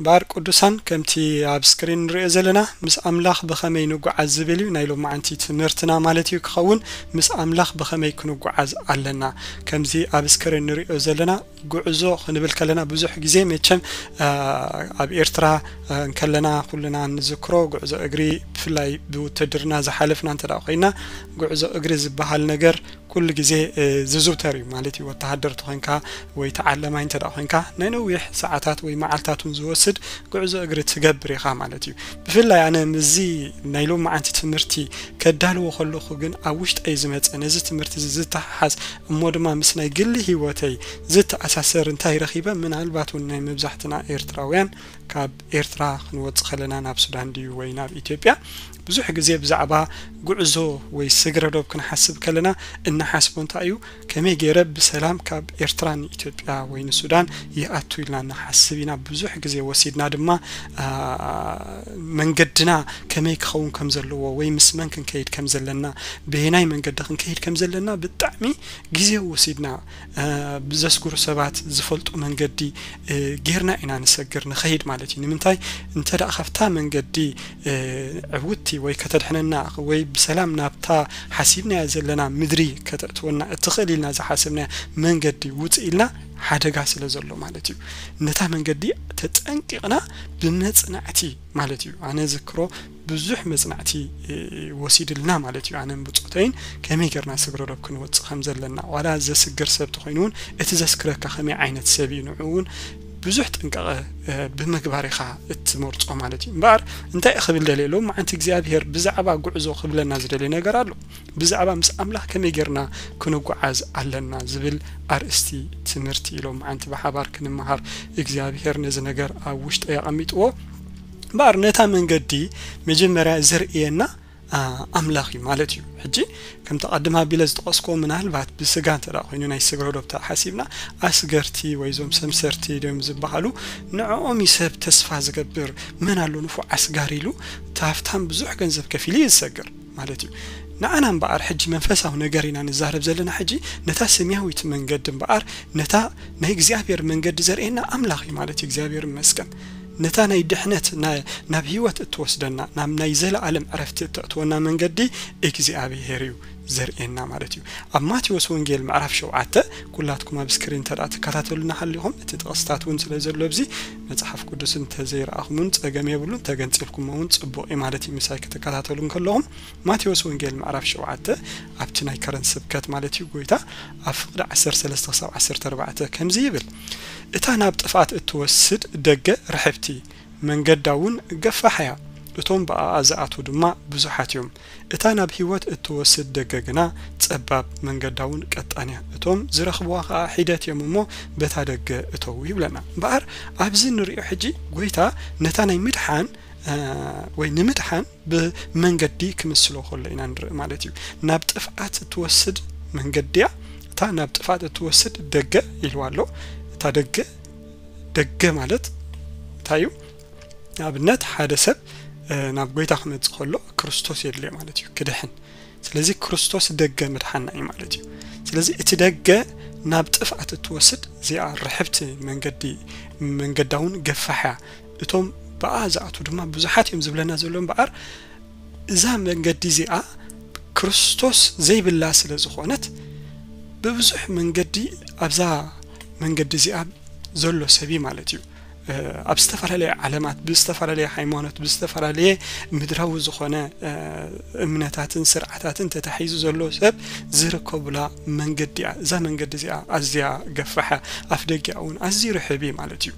እምበኣር ቅዱሳን፣ ከምቲ ኣብ ስክሪን ንሪኦ ዘለና፣ ምስ ኣምላኽ ብኸመይ ንጓዓዝ ዝብል እዩ ናይ ሎማዓንቲ ትምህርትና ማለት እዩ ክኸውን። ምስ ኣምላኽ ብኸመይ ክንጓዓዝ ኣለና? ከምዚ ኣብ ስክሪን ንሪኦ ዘለና፣ ጉዕዞ ክንብል ከለና ብዙሕ ግዜ መቸም፣ አ፣ ኣብ ኤርትራ፣ አ፣ እንከለና ኩልና ንዝክሮ ጉዕዞ እግሪ፣ ብፍላይ ብውትድርና ዝሓለፍና እንተ ደኣ ኮይና፣ ጉዕዞ እግሪ ዝበሃል ነገር ኩሉ ግዜ፣ እ፣ ዝዝውተር እዩ ማለት እዩ። ወተሃደር ተኾይንካ ወይ ተዓለማይ እንተ ደኣ ኮይንካ፣ ናይ ነዊሕ ሰዓታት ወይ መዓልታት እውን ዝወስድ ጉዕዞ እግሪ ትገብር ኢኻ ማለት እዩ። ብፍላይ ኣነ ምስዚ ናይ ሎማዓንቲ ትምህርቲ ከዳልዎ ከለኹ ግን ኣብ ውሽጠይ ዝመጸ፣ ነዚ ትምህርቲ እዚ ዝተሓሓዝ፣ እሞ ድማ ምስ ናይ ግሊ ህይወተይ ዝተኣሳሰር እንታይ ረኺበ? ምናልባት እውን ናይ መብዛሕትና ኤርትራውያን፣ ካብ ኤርትራ ክንወጽእ ከለና ናብ ሱዳን ድዩ ወይ ናብ ኢትዮጵያ፣ ብዙሕ ግዜ ብዛዕባ ጉዕዞ ወይ ስግረ ዶብ ክንሓስብ ከለና፣ እንሓስቦ እንታይ እዩ? ከመይ ገይረ ብሰላም ካብ ኤርትራ ንኢትዮጵያ ወይ ንሱዳን ይኣቱ ኢልና ንሓስብ ኢና። ብዙሕ ግዜ ወሲድና ድማ፣ አ፣ መንገድና ከመይ ክኸውን ከም ዘለዎ ወይ ምስ መን ክንከይድ ከም ዘለና፣ በየናይ መንገዲ ክንከይድ ከም ዘለና ብጣዕሚ ግዜ ወሲድና፣ አ፣ ብዘስግሩ ሰባት ዝፈልጡ መንገዲ፣ እ፣ ጌርና ኢና ንሰግር ንኸይድ ማለት እዩ። ንምንታይ? እንተ ደኣ ካብታ መንገዲ፣ እ፣ ዕውትቲ ወይ ከተድሕነና ወይ ብሰላም ናብታ ሓሲብናያ ዘለና ምድሪ ከተእትወና እትኽእል ኢልና ዝሓሰብናያ መንገዲ ውጽእ ኢልና፣ ሓደጋ ስለ ዘሎ ማለት እዩ። ነታ መንገዲ ተጠንቂቕና ብመጽናዕቲ ማለት እዩ። ኣነ ዝክሮ ብዙሕ መጽናዕቲ፣ እ፣ ወሲድልና ማለት እዩ። ኣነን ብጾተይን ከመይ ጌርና ስግረ ዶብ ክንወጽእ ከም ዘለና፣ ዋላ ዘስግር ሰብ ተኾይኑ እውን እቲ ዘስክረካ ከመይ ዓይነት ሰብ እዩ፣ ንዕኡ እውን ብዙሕ ጥንቃቐ፣ እ፣ ብምግባር ኢኻ እትመርጾ ማለት እዩ። እምበኣር እንታይ ክብል ደልየ፣ ሎማዓንቲ እግዚኣብሄር ብዛዕባ ጉዕዞ ክብለና ዝደልዮ ነገር ኣሎ። ብዛዕባ ምስ ኣምላኽ ከመይ ጌርና ክንጓዓዝ ኣለና ዝብል ኣርእስቲ ትምህርቲ ሎማዓንቲ ብሓባር ክንመሃር እግዚኣብሄር ነዚ ነገር ኣብ ውሽጠይ ኣቐሚጥዎ። እምበኣር ነታ መንገዲ መጀመርያ ዘርእየና፣ አ፣ ኣምላኽ እዩ ማለት እዩ። ሕጂ ከምቲ ቀድም ኣቢለ ዝጠቐስክዎ፣ ምናልባት ብስጋ እንተ ደኣ ኮይኑ ናይ ስግረ ዶብ ተሓሲብና፣ ኣስገርቲ ወይ እዞም ሰምሰርቲ ድዮም ዝበሃሉ፣ ንዕኦም እዩ ሰብ ተስፋ ዝገብር። መን ኣሎ ንፉዕ ኣስጋሪ ኢሉ፣ እቲ ሃፍታም ብዙሕ ገንዘብ ከፊሉ እዩ ዝሰግር ማለት እዩ። ንዓና እምበኣር ሕጂ መንፈሳዊ ነገር ኢና ንዛረብ ዘለና። ሕጂ ነታ ሰማያዊት መንገዲ እምበኣር፣ ነታ ናይ እግዚኣብሔር መንገዲ ዘርእየና ኣምላኽ እዩ ማለት እዩ። እግዚኣብሔር ይመስገን። ነታ ናይ ድሕነት፣ ና-፣ ናብ ህይወት እትወስደና፣ ናብ ናይ ዘለኣለም ዕረፍቲ እተእትወና መንገዲ እግዚኣብሔር እዩ ዘርእየና ማለት እዩ። ኣብ ማቴዎስ ወንጌል ምዕራፍ ሸውዓተ፣ ኩላትኩም ኣብ ስክሪን እንተ ደኣ ትከታተሉና ሃሊኹም፣ እቲ ጥቕስታት እውን ስለ ዘሎ ኣብዚ መጽሓፍ ቅዱስ እንተ ዘይረኣኹም እውን ጸገም የብሉን፣ ተገንጺልኩም እውን ጽቡቕ እዩ ማለት እዩ። ምሳይ ክትከታተሉ እንከለኹም፣ ማቴዎስ ወንጌል ምዕራፍ ሸውዓተ፣ ኣብቲ ናይ ከረን ስብከት ማለት እዩ፣ ጎይታ ኣብ ፍቕዲ ዓሰርተ ሰለስተ ክሳብ ዓሰርተ ኣርባዕተ ከምዚ ይብል፣ "እታ ናብ ጥፍኣት እትወስድ ደገ ርሕብቲ፣ መንገዳ እውን ገፋሕ እያ፣ እቶም ብኣኣ ዝኣትዉ ድማ ብዙሓት እዮም። እታ ናብ ህይወት እትወስድ ደገ ግና ጸባብ፣ መንገዳ እውን ቀጣን እያ፣ እቶም ዝረኽብዋ ኸኣ ሒደት እዮም እሞ በታ ደገ እተዉ" ይብለና። እምበኣር ኣብዚ ንሪኦ ሕጂ ጎይታ ነታ ናይ ምድሓን፣ እ፣ ወይ ንምድሓን ብመንገዲ ክምስሎ ከሎ ኢና ንርኢ ማለት እዩ። ናብ ጥፍኣት እትወስድ መንገዲ እያ። እታ ናብ ጥፍኣት እትወስድ ደገ ኢልዋ ኣሎ። እታ ደገ፣ ደገ ማለት እንታይ እዩ? ንኣብነት ሓደ ሰብ፣ እ፣ ናብ ጎይታ ክመጽእ ከሎ ክርስቶስ የድልዮ ማለት እዩ፣ ክድሕን። ስለዚ ክርስቶስ ደገ ምድሓና እዩ ማለት እዩ። ስለዚ እቲ ደገ ናብ ጥፍኣት እትወስድ እዚኣ ርሕብቲ መንገዲ፣ መንገዳ እውን ገፋሕ እያ። እቶም ብኣ ዝኣትዉ ድማ ብዙሓት እዮም ዝብለና ዘሎ እምበኣር፣ እዛ መንገዲ እዚኣ ክርስቶስ ዘይብላ ስለ ዝኾነት፣ ብብዙሕ መንገዲ ኣብዛ መንገዲ እዚኣ ዘሎ ሰብ እዩ ማለት እዩ። እ፣ ኣብ ዝተፈላለየ ዓለማት፣ ብዝተፈላለየ ሃይማኖት፣ ብዝተፈላለየ ምድራዊ ዝኾነ፣ እ፣ እምነታትን ስርዓታትን ተታሒዙ ዘሎ ሰብ ዝርከቡላ መንገዲ እያ። እዛ መንገዲ እዚኣ ኣዝያ ገፋሕ፣ ኣፍ ደጊኣ እውን ኣዝዩ ርሕብ እዩ ማለት እዩ።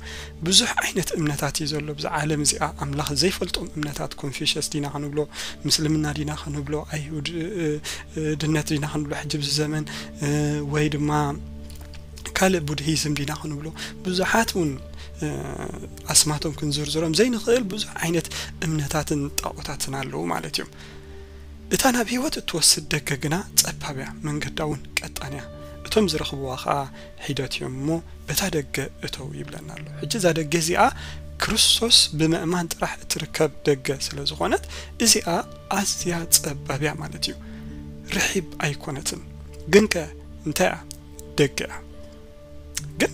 ብዙሕ ዓይነት እምነታት እዩ ዘሎ ብዛ ዓለም እዚኣ። ኣምላኽ ዘይፈልጦም እምነታት፣ ኮንፊሽስ ዲና ክንብሎ፣ ምስልምና ዲና ክንብሎ፣ ኣይሁድ፣ እ፣ እ፣ ድነት ዲና ክንብሎ ሕጂ ብዚ ዘመን፣ እ፣ ወይ ድማ ካልእ ቡድሂዝም ዲና ክንብሎ፣ ብዙሓት እውን፣ እ፣ ኣስማቶም ክንዝርዝሮም ዘይንኽእል ብዙሕ ዓይነት እምነታትን ጣኦታትን ኣለዉ ማለት እዮም። እታ ናብ ህይወት እትወስድ ደገ ግና ጸባብ እያ፣ መንገዳ እውን ቀጣን እያ። እቶም ዝረኽብዋ ኸኣ ሒደት እዮም እሞ በታ ደገ እተው ይብለና ኣሎ። ሕጂ እዛ ደገ እዚኣ ክርስቶስ ብምእማን ጥራሕ እትርከብ ደገ ስለ ዝኾነት፣ እዚኣ ኣዝያ ጸባብ እያ ማለት እዩ። ርሒብ ኣይኮነትን። ግንከ እንታይ እያ? ደገ እያ። ግን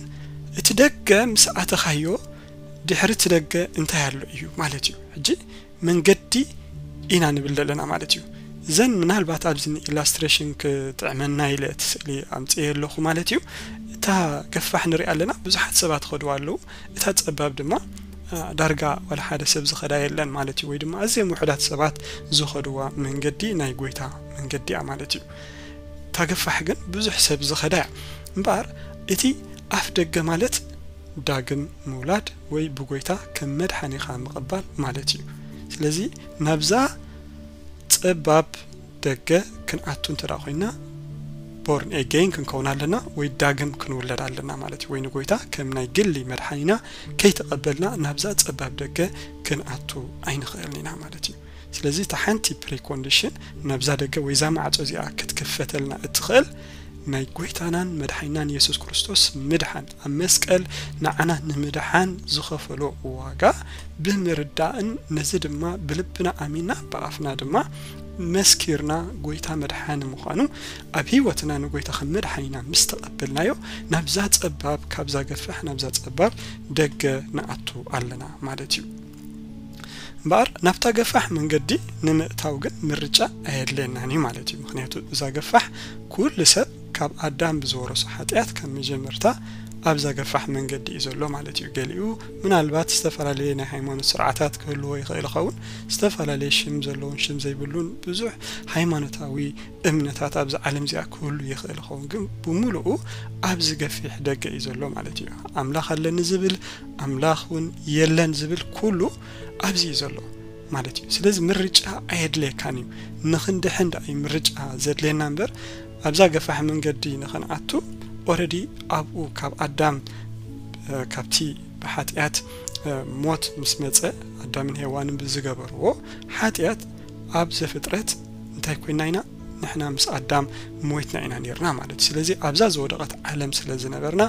እቲ ደገ ምስ ኣተኻዮ ድሕሪ እቲ ደገ እንታይ ኣሎ እዩ ማለት እዩ። ሕጂ መንገዲ ኢና ንብል ዘለና ማለት እዩ። እዘን ምናልባት ኣብዚ ኢላስትሬሽን ክጥዕመና ኢለ እቲ ስእሊ ኣምፅኤ ኣለኹ ማለት እዩ። እታ ገፋሕ ንሪኣ ኣለና፣ ብዙሓት ሰባት ኸድዋ ኣለዉ። እታ ጸባብ ድማ ዳርጋ ዋላ ሓደ ሰብ ዝኸዳ የለን ማለት እዩ። ወይ ድማ ኣዝዮም ውሑዳት ሰባት ዝኸድዋ መንገዲ ናይ ጎይታ መንገዲ እያ ማለት እዩ። እታ ገፋሕ ግን ብዙሕ ሰብ ዝኸዳ እያ። እምበኣር እቲ ኣፍ ደገ ማለት ዳግም ምውላድ ወይ ብጎይታ ከም መድሓኒኻ ምቕባል ማለት እዩ። ስለዚ ናብዛ ጸባብ ደገ ክንኣቱ እንተ ኮይና፣ ቦርን ኤገይን ክንከውን ኣለና ወይ ዳግም ክንውለድ ኣለና ማለት እዩ። ወይ ንጎይታ ከም ናይ ግሊ መድሓኒና ከይተቐበልና ናብዛ ጸባብ ደገ ክንኣቱ ኣይንኽእልን ኢና ማለት እዩ። ስለዚ እታ ሓንቲ ፕሪኮንዲሽን ናብዛ ደገ ወይ ዛ ማዕጾ እዚኣ ክትክፈተልና እትኽእል ናይ ጎይታናን መድሓኒናን የሱስ ክርስቶስ ምድሓን፣ ኣብ መስቀል ንዓና ንምድሓን ዝኸፈሎ ዋጋ ብምርዳእን ነዚ ድማ ብልብና ኣሚና ብኣፍና ድማ መስኪርና ጎይታ መድሓኒ ምዃኑ ኣብ ህይወትና ንጎይታ ከም መድሓኒና ምስ ተቐበልናዮ ናብዛ ጸባብ፣ ካብዛ ገፋሕ ናብዛ ጸባብ ደገ ንኣቱ ኣለና ማለት እዩ። እምበኣር ናብታ ገፋሕ መንገዲ ንምእታው ግን ምርጫ ኣየድልየናን እዩ ማለት እዩ። ምኽንያቱ እዛ ገፋሕ ኩሉ ሰብ ካብ ኣዳም ብዝወረሶ ሓጢኣት ካብ መጀመርታ ኣብዛ ገፋሕ መንገዲ እዩ ዘሎ ማለት እዩ። ገሊኡ ምናልባት ዝተፈላለየ ናይ ሃይማኖት ስርዓታት ክህልዎ ይኽእል ይኸውን፣ ዝተፈላለየ ሽም ዘለዎን ሽም ዘይብሉን ብዙሕ ሃይማኖታዊ እምነታት ኣብዚ ዓለም እዚኣ ክህሉ ይኽእል ይኸውን፣ ግን ብምሉኡ ኣብዚ ገፊሕ ደገ እዩ ዘሎ ማለት እዩ። ኣምላኽ ኣለኒ ዝብል፣ ኣምላኽ እውን የለን ዝብል ኩሉ ኣብዚ እዩ ዘሎ ማለት እዩ። ስለዚ ምርጫ ኣየድልየካን እዩ። ንኽንድሕን ደኣ እዩ ምርጫ ዘድልየና እምበር፣ ኣብዛ ገፋሕ መንገዲ ንኽንኣቱ ኦረዲ ኣብኡ ካብ ኣዳም፣ እ፣ ካብቲ ብሓጢኣት፣ እ፣ ሞት ምስ መጸ፣ ኣዳምን ሄዋንን ብዝገበርዎ ሓጢኣት ኣብ ዘፍጥረት እንታይ ኮይና ኢና? ንሕና ምስ ኣዳም ሞይትና ኢና ነርና ማለት እዩ። ስለዚ ኣብዛ ዝወደቐት ዓለም ስለ ዝነበርና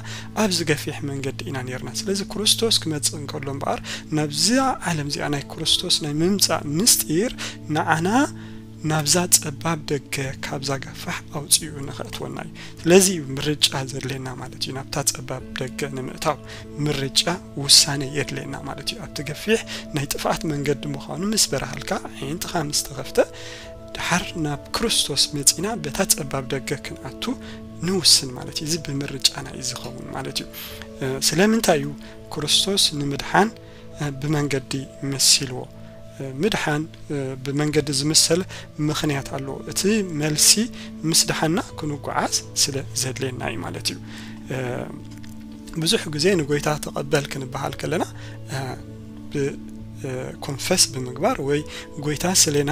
ኣብዚ ገፊሕ መንገዲ ኢና ነርና። ስለዚ ክርስቶስ ክመጽእ እንከሎ እምበኣር ናብዛ ዓለም እዚኣ ናይ ክርስቶስ ናይ ምምጻእ ምስጢር ንዓና ናብዛ ጸባብ ደገ ካብዛ ገፋሕ ኣውጺኡ ንኸእትወና እዩ። ስለዚ እዩ ምርጫ ዘድልየና ማለት እዩ። ናብታ ጸባብ ደገ ንምእታው ምርጫ ውሳኔ የድልየና ማለት እዩ። ኣብቲ ገፊሕ ናይ ጥፍኣት መንገዲ ምዃኑ ምስ በራሃልካ፣ ኣዒንትኻ ምስ ተኸፍተ፣ ደሓር ናብ ክርስቶስ መጺና በታ ጸባብ ደገ ክንኣቱ ንውስን ማለት እዩ። እዚ ብምርጫና እዩ ዝኸውን ማለት እዩ። እ፣ ስለምንታይ እዩ ክርስቶስ ንምድሓን፣ እ፣ ብመንገዲ መሲልዎ? እ፣ ምድሓን፣ እ፣ ብመንገዲ ዝምሰል ምኽንያት ኣለዎ። እቲ መልሲ ምስ ደሓና ክንጓዓዝ ስለ ዘድልየና እዩ ማለት እዩ። እ፣ ብዙሕ ግዜ ንጎይታ ተቐበል ክንበሃል ከለና፣ እ፣ ብ-፣ እ፣ ኮንፈስ ብምግባር ወይ ጎይታ ስሌና፣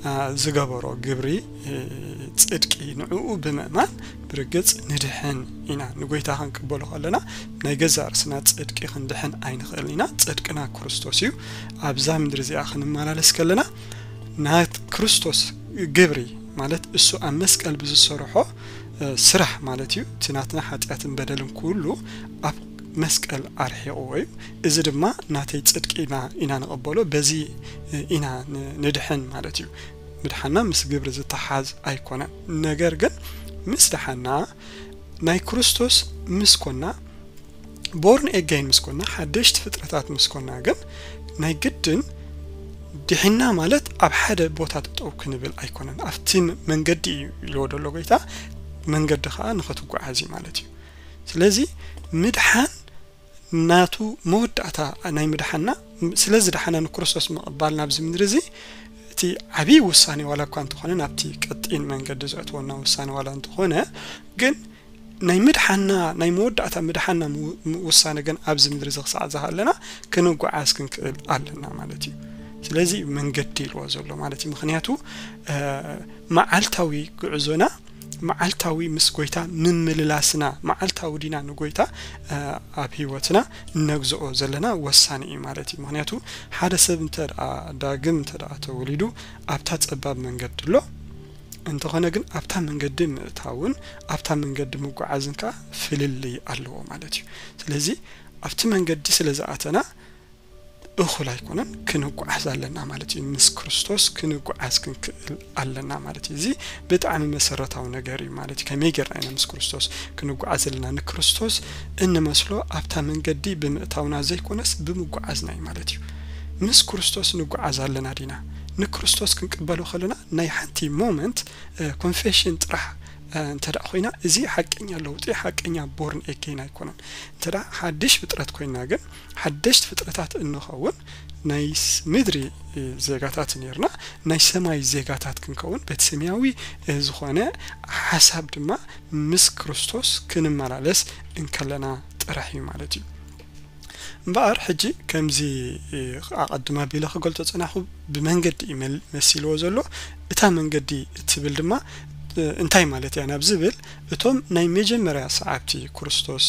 እ፣ ዝገበሮ ግብሪ፣ እ፣ ጽድቂ ንዕኡ ብምእማን ብርግጽ ንድሕን ኢና። ንጎይታ ክንቅበሎ ከለና ናይ ገዛእ ርእስና ጽድቂ ክንድሕን ኣይንኽእልን ኢና። ጽድቅና ክርስቶስ እዩ። ኣብዛ ምድሪ እዚኣ ክንመላለስ ከለና ናይ ክርስቶስ ግብሪ ማለት እሱ ኣብ መስቀል ብዝሰርሖ፣ እ፣ ስራሕ ማለት እዩ። እቲ ናትና ሓጢኣትን በደልን ኩሉ ኣብ መስቀል ኣርሒቕዎ እዩ። እዚ ድማ ናተይ ጽድቂ ኢና፣ ኢና ንቕበሎ። በዚ፣ እ፣ ኢና ን-፣ ንድሕን ማለት እዩ። ምድሓና ምስ ግብሪ ዝተሓዝ ኣይኮነን። ነገር ግን ምስ ደሓና ናይ ክርስቶስ ምስ ኮና፣ ቦርን ኤገይን ምስ ኮና፣ ሓደሽቲ ፍጥረታት ምስ ኮና ግን ናይ ግድን ድሒና ማለት ኣብ ሓደ ቦታ ጠጠው ክንብል ኣይኮነን። ኣብቲ መንገዲ እዩ ኢልዎ ዘሎ ጎይታ፣ መንገዲ ከዓ ንኸትጓዓዝ እዩ ማለት እዩ። ስለዚ ምድሓን ናቱ መወዳእታ ናይ ምድሓና፣ ስለ ዝደሓና ንክርስቶስ ምቕባል ናብዚ ምድሪ እዚ እቲ ዓብዪ ውሳኔ ዋላ እኳ እንተኾነ፣ ናብቲ ቀጢን መንገዲ ዘእትወና ውሳኔ ዋላ እንተኾነ፣ ግን ናይ ምድሓና፣ ናይ መወዳእታ ምድሓና ምው-፣ ም-፣ ውሳነ ግን ኣብዚ ምድሪ እዚ ክሳዕ ዝሃለና ክንጓዓዝ ክንክእል ኣለና ማለት እዩ። ስለዚ እዩ መንገዲ ኢልዎ ዘሎ ማለት እዩ። ምኽንያቱ፣ እ፣ መዓልታዊ ጉዕዞና፣ መዓልታዊ ምስ ጎይታ ምምልላስና፣ መዓልታዊ ዲና ንጎይታ፣ እ፣ ኣብ ህይወትና እነግዝኦ ዘለና ወሳኒ እዩ ማለት እዩ። ምኽንያቱ ሓደ ሰብ እንተ ደኣ ዳግም እንተ ደኣ ተወሊዱ ኣብታ ጸባብ መንገዲ ኣሎ፣ እንተኾነ ግን ኣብታ መንገዲ ምእታውን ኣብታ መንገዲ ምጉዓዝን ከኣ ፍልልይ ኣለዎ ማለት እዩ። ስለዚ ኣብቲ መንገዲ ስለ ዝኣተና እኹል ኣይኮነን፣ ክንጓዓዝ ኣለና ማለት እዩ። ምስ ክርስቶስ ክንጓዓዝ ክንክእል ኣለና ማለት እዩ። እዚ ብጣዕሚ መሰረታዊ ነገር እዩ ማለት እዩ። ከመይ ጌርና ኢና ምስ ክርስቶስ ክንጓዓዝ ዘለና? ንክርስቶስ እንመስሎ ኣብታ መንገዲ ብምእታውና ዘይኮነስ ብምጓዓዝና እዩ ማለት እዩ። ምስ ክርስቶስ ንጓዓዝ ኣለና ዲና? ንክርስቶስ ክንቅበሎ ከለና ናይ ሓንቲ ሞመንት ኮንፌሽን ጥራሕ እንተ ደኣ ኮይና፣ እዚ ሓቀኛ ለውጢ፣ ሓቀኛ ቦርን ኤጌን ኣይኮነን። እንተ ደኣ ሓድሽ ፍጥረት ኮይና ግን፣ ሓደሽቲ ፍጥረታት እንኸውን፣ ናይ ስ- ምድሪ ዜጋታት ነርና፣ ናይ ሰማይ ዜጋታት ክንከውን፣ በቲ ሰማያዊ ዝኾነ ሓሳብ ድማ ምስ ክርስቶስ ክንመላለስ እንከለና ጥራሕ እዩ ማለት እዩ። እምበኣር ሕጂ ከምዚ ኣቐድም ኣቢለ ክገልጾ ጸናኹ፣ ብመንገዲ እዩ መል- መሲልዎ ዘሎ። እታ መንገዲ እትብል ድማ እንታይ ማለት እያ ናብ ዝብል፣ እቶም ናይ መጀመርያ ሰዓብቲ ክርስቶስ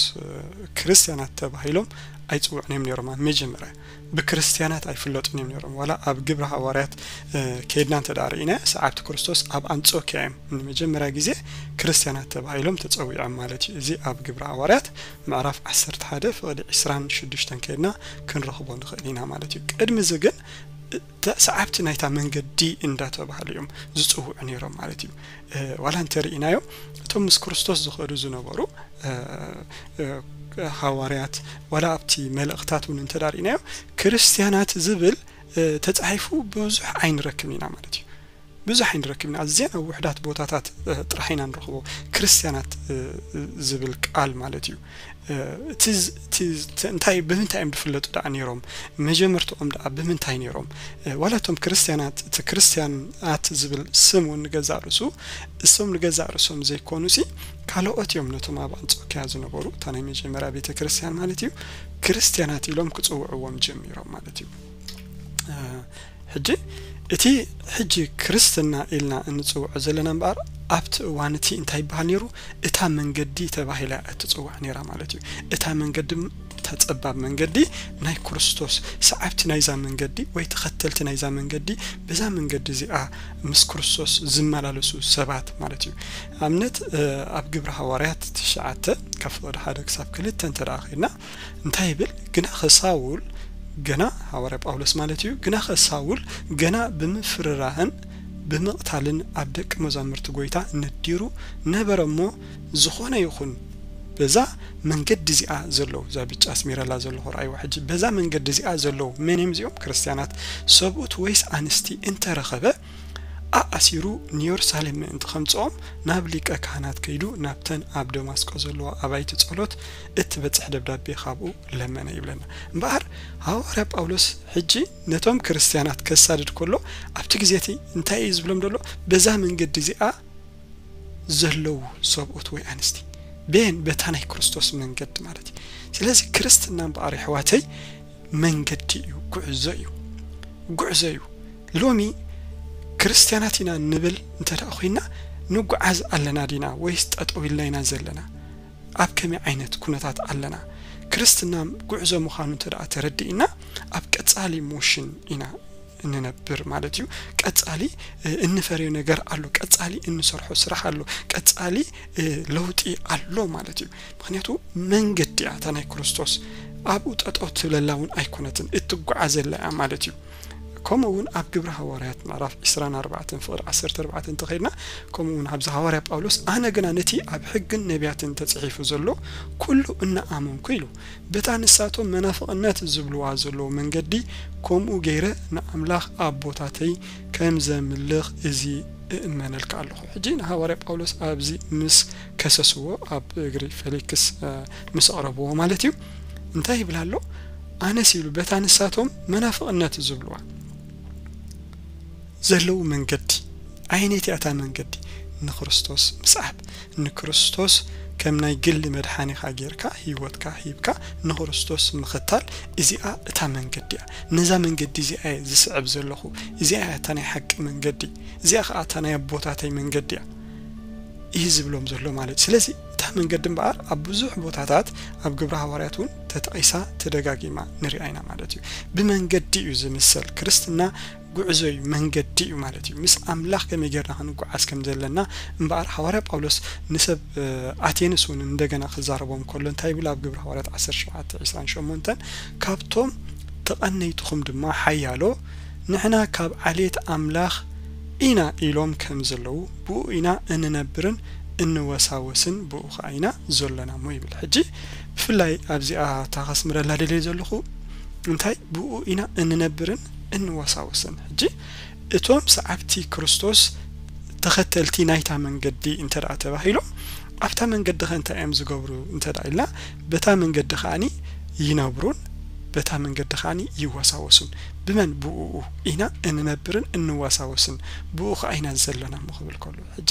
ክርስትያናት ተባሂሎም ኣይጽውዑን እዮም ነይሮም። ኣብ መጀመርያ ብክርስትያናት ኣይፍለጡን እዮም ነይሮም። ዋላ ኣብ ግብሪ ሃዋርያት ከይድና እንተ ደኣ ርኢና፣ ሰዓብቲ ክርስቶስ ኣብ ኣንጾኪያ እዮም ንመጀመርያ ግዜ ክርስትያናት ተባሂሎም ተጸዊዖም ማለት እዩ። እዚ ኣብ ግብሪ ሃዋርያት ምዕራፍ ዓሰርተ ሓደ ፍቕዲ ዕስራን ሽዱሽተን ከይድና ክንረኽቦ ንኽእል ኢና ማለት እዩ። ቅድሚ እዚ ግን እተ- ሰዓብቲ ናይታ መንገዲ እንዳተባህሉ እዮም ዝጽውዑ ነይሮም ማለት እዩ። ዋላ እንተ ርኢናዮ፣ እቶም ምስ ክርስቶስ ዝኸዱ ዝነበሩ ሃዋርያት፣ ዋላ ኣብቲ መልእኽታት እውን እንተ ርኢናዮ፣ ክርስትያናት ዝብል ተጻሒፉ ብዙሕ ኣይንረክብን ኢና ማለት እዩ። ብዙሕ ኣይንረክብን ኢና። ኣዝየን ኣብ ውሕዳት ቦታታት ጥራሕ ኢና ንረኽቦ፣ ክርስትያናት ዝብል ቃል ማለት እዩ። እንታይ ብምንታይ እዮም ዝፍለጡ ደኣ ነይሮም? መጀመርትኦም ደኣ ብምንታይ ነይሮም? ዋላ እቶም ክርስትያናት፣ እቲ ክርስትያናት ዝብል ስም እውን ንገዛእ ርእሱ፣ እሶም ንገዛእ ርእሶም ዘይኮኑ ሲ፣ ካልኦት እዮም ነቶም ኣብ ኣንጾኪያ ዝነበሩ፣ እታ ናይ መጀመርያ ቤተ ክርስትያን ማለት እዩ፣ ክርስትያናት ኢሎም ክጽውዕዎም ጀሚሮም ማለት እዩ። ሕጂ እቲ ሕጂ ክርስትና ኢልና እንጽውዖ ዘለና እምበኣር፣ ኣብቲ እዋን እቲ እንታይ ይበሃል ነይሩ? እታ መንገዲ ተባሂላ እትጽዋዕ ነይራ ማለት እዩ። እታ መንገዲ፣ እታ ጸባብ መንገዲ፣ ናይ ክርስቶስ ሰዓብቲ ናይዛ መንገዲ ወይ ተኸተልቲ ናይዛ መንገዲ፣ በዛ መንገዲ እዚኣ ምስ ክርስቶስ ዝመላለሱ ሰባት ማለት እዩ። ኣብነት ኣብ ግብሪ ሃዋርያት ትሽዓተ ካብ ፍቕዲ ሓደ ክሳብ ክልተ እንተ ደኣ ኸድና እንታይ ይብል? ግናኸ ሳውል፣ ገና ሃዋርያ ጳውሎስ ማለት እዩ፣ ግናኸ ሳውል ገና ብምፍርራህን ብምቕታልን ኣብ ደቂ መዛሙርቲ ጎይታ ነዲሩ ነበረ እሞ፣ ዝኾነ ይኹን በዛ መንገዲ እዚኣ ዘለዉ፣ እዛ ብጫ ኣስሚረላ ዘለኹ ርኣይዋ ሕጂ፣ በዛ መንገዲ እዚኣ ዘለዉ፣ መን እዮም እዚኦም? ክርስትያናት፣ ሰብኡት ወይስ ኣንስቲ እንተረኸበ፣ ኣኣሲሩ ንየሩሳሌም ምእንቲ ከምጽኦም ናብ ሊቀ ካህናት ከይዱ ናብተን ኣብ ደማስቆ ዘለዋ ኣባይቲ ጸሎት እትበጽሕ ደብዳቤ ካብኡ ለመነ ይብለና። እምበኣር ሃዋርያ ጳውሎስ ሕጂ ነቶም ክርስትያናት ከሳድድ ከሎ ኣብቲ ግዜ እቲ እንታይ እዩ ዝብሎም ዘሎ? በዛ መንገዲ እዚኣ ዘለዉ ሰብኡት ወይ ኣንስቲ፣ በየን? በታ ናይ ክርስቶስ መንገዲ ማለት እዩ። ስለዚ ክርስትና እምበኣር የሕዋተይ መንገዲ እዩ፣ ጉዕዞ እዩ፣ ጉዕዞ እዩ። ሎሚ ክርስትያናት ኢና ንብል እንተ ደኣ ኮይና፣ ንጓዓዝ ኣለና ዲና ወይስ ጠጠው ኢልና ኢና ዘለና? ኣብ ከመይ ዓይነት ኩነታት ኣለና? ክርስትና ጉዕዞ ምዃኑ እንተ ደኣ ተረዲእና፣ ኣብ ቀጻሊ ሞሽን ኢና እንነብር ማለት እዩ። ቀጻሊ እንፈርዮ ነገር ኣሎ፣ ቀጻሊ እንሰርሖ ስራሕ ኣሎ፣ ቀጻሊ ለውጢ ኣሎ ማለት እዩ። ምኽንያቱ መንገዲ እያ እታ ናይ ክርስቶስ፣ ኣብኡ ጠጠው ትብለላ እውን ኣይኮነትን፣ እትጓዓዘላ እያ ማለት እዩ። ከምኡ እውን ኣብ ግብሪ ሃዋርያት ምዕራፍ ዕስራን ኣርባዕተን ፍቕዲ ዓሰርተ ኣርባዕተ እንተኸድና፣ ከምኡ እውን ኣብዚ ሃዋርያ ጳውሎስ፣ ኣነ ግና ነቲ ኣብ ሕግን ነቢያትን ተጽሒፉ ዘሎ ኩሉ እናኣመንኩ ኢሉ፣ በታ ንሳቶም መናፍቕነት ዝብልዋ ዘለዉ መንገዲ ከምኡ ገይረ ንኣምላኽ ኣቦታተይ ከም ዘምልኽ እዚ እእመነልካ ኣለኹ። ሕጂ ንሃዋርያ ጳውሎስ ኣብዚ ምስ ከሰስዎ፣ ኣብ እግሪ ፌሊክስ ምስ ኣቕረብዎ ማለት እዩ፣ እንታይ ይብል ኣሎ? ኣነስ ኢሉ በታ ንሳቶም መናፍቕነት ዝብልዋ ዘለዉ መንገዲ፣ ኣየነይቲ እያ እታ መንገዲ? ንክርስቶስ ምስዓብ፣ ንክርስቶስ ከም ናይ ግሊ መድሓኒኻ ጌርካ ህይወትካ ሂብካ ንክርስቶስ ምኽታል፣ እዚኣ እታ መንገዲ እያ። ነዛ መንገዲ እዚኣ እየ ዝስዕብ ዘለኹ። እዚኣ እያ እታ ናይ ሓቂ መንገዲ። እዚኣ ኸኣ እታ ናይ ኣቦታተይ መንገዲ እያ እዩ ዝብሎም ዘሎ ማለት እዩ። ስለዚ እታ መንገዲ እምበኣር ኣብ ብዙሕ ቦታታት ኣብ ግብሪ ሃዋርያት እውን ተጠቒሳ ተደጋጊማ ንሪኣ ኢና ማለት እዩ። ብመንገዲ እዩ ዝምሰል። ክርስትና ጉዕዞ እዩ፣ መንገዲ እዩ ማለት እዩ። ምስ ኣምላኽ ከመይ ጌርና ክንጓዓዝ ከም ዘለና እምበኣር፣ ሃዋርያ ጳውሎስ ንሰብ ኣቴንስ እውን እንደገና ክዛረቦም ከሎ እንታይ ይብል? ኣብ ግብሪ ሃዋርያት ዓሰርተ ሸውዓተ ዕስራን ሸሞንተን፣ ካብቶም ተቐነይትኹም ድማ ሓያሎ፣ ንሕና ካብ ዓሌት ኣምላኽ ኢና ኢሎም ከም ዘለዉ፣ ብኡ ኢና እንነብርን እንወሳወስን፣ ብኡ ኸኣ ኢና ዘሎና እሞ ይብል። ሕጂ ብፍላይ ኣብዚኣ እታ ከስምረላ ደልየ ዘለኹ እንታይ፣ ብኡ ኢና እንነብርን እንወሳወስን። ሕጂ እቶም ሰዓብቲ ክርስቶስ ተኸተልቲ ናይታ መንገዲ እንተ ደኣ ተባሂሎም፣ ኣብታ መንገዲ ኸ እንታይ እዮም ዝገብሩ እንተ ደኣ ኢልና፣ በታ መንገዲ ከኣኒ ይነብሩን በታ መንገዲ ከኣኒ ይወሳወሱን። ብመን? ብእኡ ኢና እንነብርን እንወሳወስን፣ ብኡ ኸኣ ኢና ዘለና እሞ ክብል ከሎ፣ ሕጂ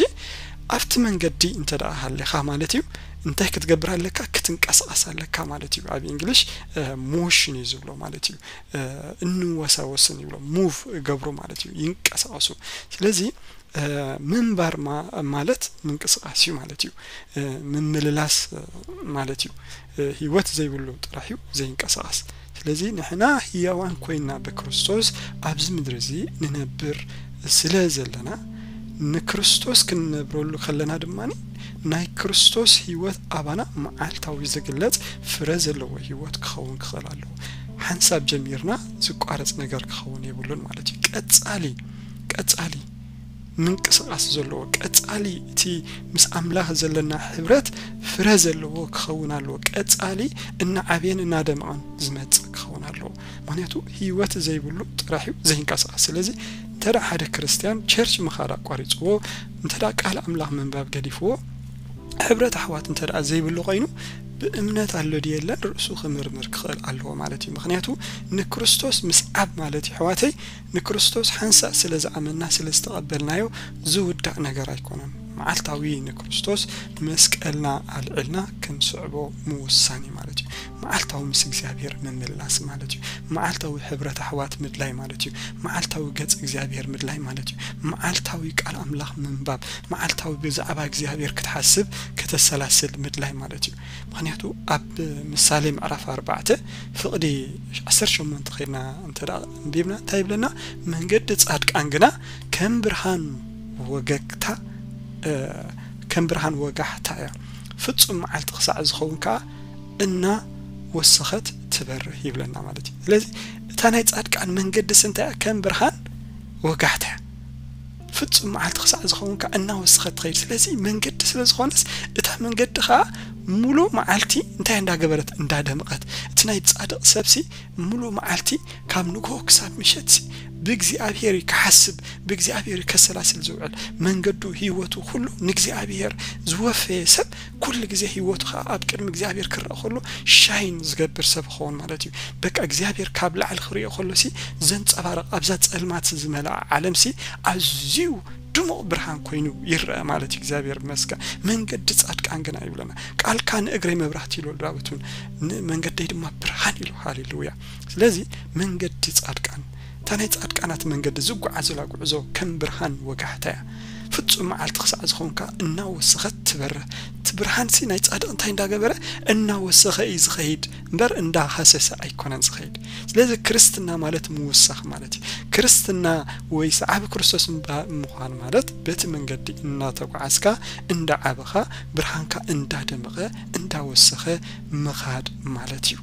ኣብቲ መንገዲ እንተ ደኣ ሃሊኻ ማለት እዩ፣ እንታይ ክትገብር ኣለካ? ክትንቀሳቐስ ኣለካ ማለት እዩ። ኣብ እንግሊሽ ሞሽን እዩ ዝብሎ ማለት እዩ። እ፣ እንወሳወስን ይብሎ፣ ሙቭ ገብሩ ማለት እዩ፣ ይንቀሳቐሱ። ስለዚ እ፣ ምንባር ማ-፣ ማለት ምንቅስቓስ እዩ ማለት እዩ። እ፣ ምምልላስ፣ እ፣ ማለት እዩ። እ፣ ህይወት ዘይብሉ ጥራሕ እዩ ዘይንቀሳቐስ። ስለዚ ንሕና ህያዋን ኮይንና ብክርስቶስ ኣብዚ ምድሪ እዚ ንነብር ስለ ዘለና፣ ንክርስቶስ ክንነብረሉ ከለና ድማ ናይ ክርስቶስ ህይወት ኣባና መዓልታዊ ዝግለጽ ፍረ ዘለዎ ህይወት ክኸውን ክኽእል ኣለዎ። ሓንሳብ ጀሚርና ዝቋረጽ ነገር ክኸውን የብሉን ማለት እዩ። ቀጻሊ፣ ቀጻሊ ምንቅስቓስ ዘለዎ፣ ቀጻሊ እቲ ምስ ኣምላኽ ዘለና ሕብረት ፍረ ዘለዎ ክኸውን ኣለዎ። ቀጻሊ እናዓበየን እናደመቐን ዝመጽእ ክኸውን ኣለዎ። ምኽንያቱ ህይወት ዘይብሉ ጥራሕ እዩ ዘይንቀሳቐስ። ስለዚ እንተ ደኣ ሓደ ክርስትያን ቸርች ምኻድ ኣቋሪጽዎ፣ እንተ ደኣ ቃል ኣምላኽ ምንባብ ገዲፍዎ፣ ሕብረት ኣሕዋት እንተ ደኣ ዘይብሉ ኮይኑ፣ ብእምነት ኣሎ ድዩ የለን ርእሱ ክምርምር ክኽእል ኣለዎ ማለት እዩ። ምኽንያቱ ንክርስቶስ ምስዓብ ማለት እዩ፣ ኣሕዋተይ፣ ንክርስቶስ ሓንሳእ ስለ ዝኣመንና ስለ ዝተቐበልናዮ ዝውዳእ ነገር ኣይኮነን። መዓልታዊ ንክርስቶስ መስቀልና ኣልዒልና ክንስዕቦ ምውሳን እዩ ማለት እዩ። መዓልታዊ ምስ እግዚኣብሔር ምምላስ ማለት እዩ። መዓልታዊ ሕብረት ኣሕዋት ምድላይ ማለት እዩ። መዓልታዊ ገጽ እግዚኣብሔር ምድላይ ማለት እዩ። መዓልታዊ ቃል ኣምላኽ ምንባብ፣ መዓልታዊ ብዛዕባ እግዚኣብሔር ክትሓስብ፣ ከተሰላስል ምድላይ ማለት እዩ። ምኽንያቱ ኣብ ምሳሌ ምዕራፍ ኣርባዕተ ፍቕዲ ዓሰርተ ሸሞንተ ኸይድና እንተ ደኣ ኣንቢብና እንታይ ይብለና? መንገዲ ጻድቃን ግና ከም ብርሃን ወገግታ፣ እ፣ ከም ብርሃን ወጋሕታ እያ። ፍጹም መዓልቲ ክሳዕ ዝኸውን ከኣ እናወሰኸት ትበርህ ይብለና ማለት እዩ። ስለዚ እታ ናይ ጻድቃን መንገድስ እንታይ እያ? ከም ብርሃን ወጋሕታ እያ። ፍጹም መዓልቲ ክሳዕ ዝኸውን ከኣ እናወሰኸት ትኸይድ። ስለዚ መንገዲ ስለ ዝኾነስ እታ መንገዲ ኸኣ ሙሉእ መዓልቲ እንታይ እንዳገበረት? እንዳደመቐት። እቲ ናይ ጻድቕ ሰብሲ ሙሉእ መዓልቲ ካብ ንግሆ ክሳብ ምሸትሲ ብእግዚኣብሔር እዩ ክሓስብ፣ ብእግዚኣብሔር እዩ ከሰላስል ዝውዕል። መንገዱ፣ ህይወቱ፣ ኩሉ ንእግዚኣብሔር ዝወፈየ ሰብ ኩሉ ግዜ ህይወቱ ኸኣ ኣብ ቅድሚ እግዚኣብሔር ክረኣ ከሎ ሻይን ዝገብር ሰብ ክኸውን ማለት እዩ። በቃ እግዚኣብሔር ካብ ላዕሊ ክርእዮ ከሎሲ ዘንጸባርቕ፣ ኣብዛ ጸልማት ዝመልኣ ዓለምሲ ኣዝዩ ድሙቕ ብርሃን ኮይኑ ይረአ ማለት እዩ። እግዚኣብሔር ይመስገን። መንገዲ ጻድቃን ግና ይብለና። ቃልካ ንእግረይ መብራህቲ ኢሉ ዳዊት እውን፣ ንመንገደይ ድማ ብርሃን ኢሉ። ሃሌሉያ። ስለዚ መንገዲ ጻድቃን፣ እታ ናይ ጻድቃናት መንገዲ ዝጓዓዙላ ጉዕዞ ከም ብርሃን ወጋሕታ እያ። ፍጹም መዓልቲ ክሳዕ ዝኾንካ እናወሰኸት ትበርህ። እቲ ብርሃንሲ ናይ ጻድቕ እንታይ እንዳገበረ? እናወሰኸ እዩ ዝኸይድ እምበር እንዳሃሰሰ ኣይኮነን ዝኸይድ። ስለዚ ክርስትና ማለት ምውሳኽ ማለት እዩ። ክርስትና ወይ ሰዓቢ ክርስቶስ ምባ-፣ ምዃን ማለት በቲ መንገዲ እናተጓዓዝካ፣ እንዳዓበኻ፣ ብርሃንካ እንዳደመቐ፣ እንዳወሰኸ ምኻድ ማለት እዩ።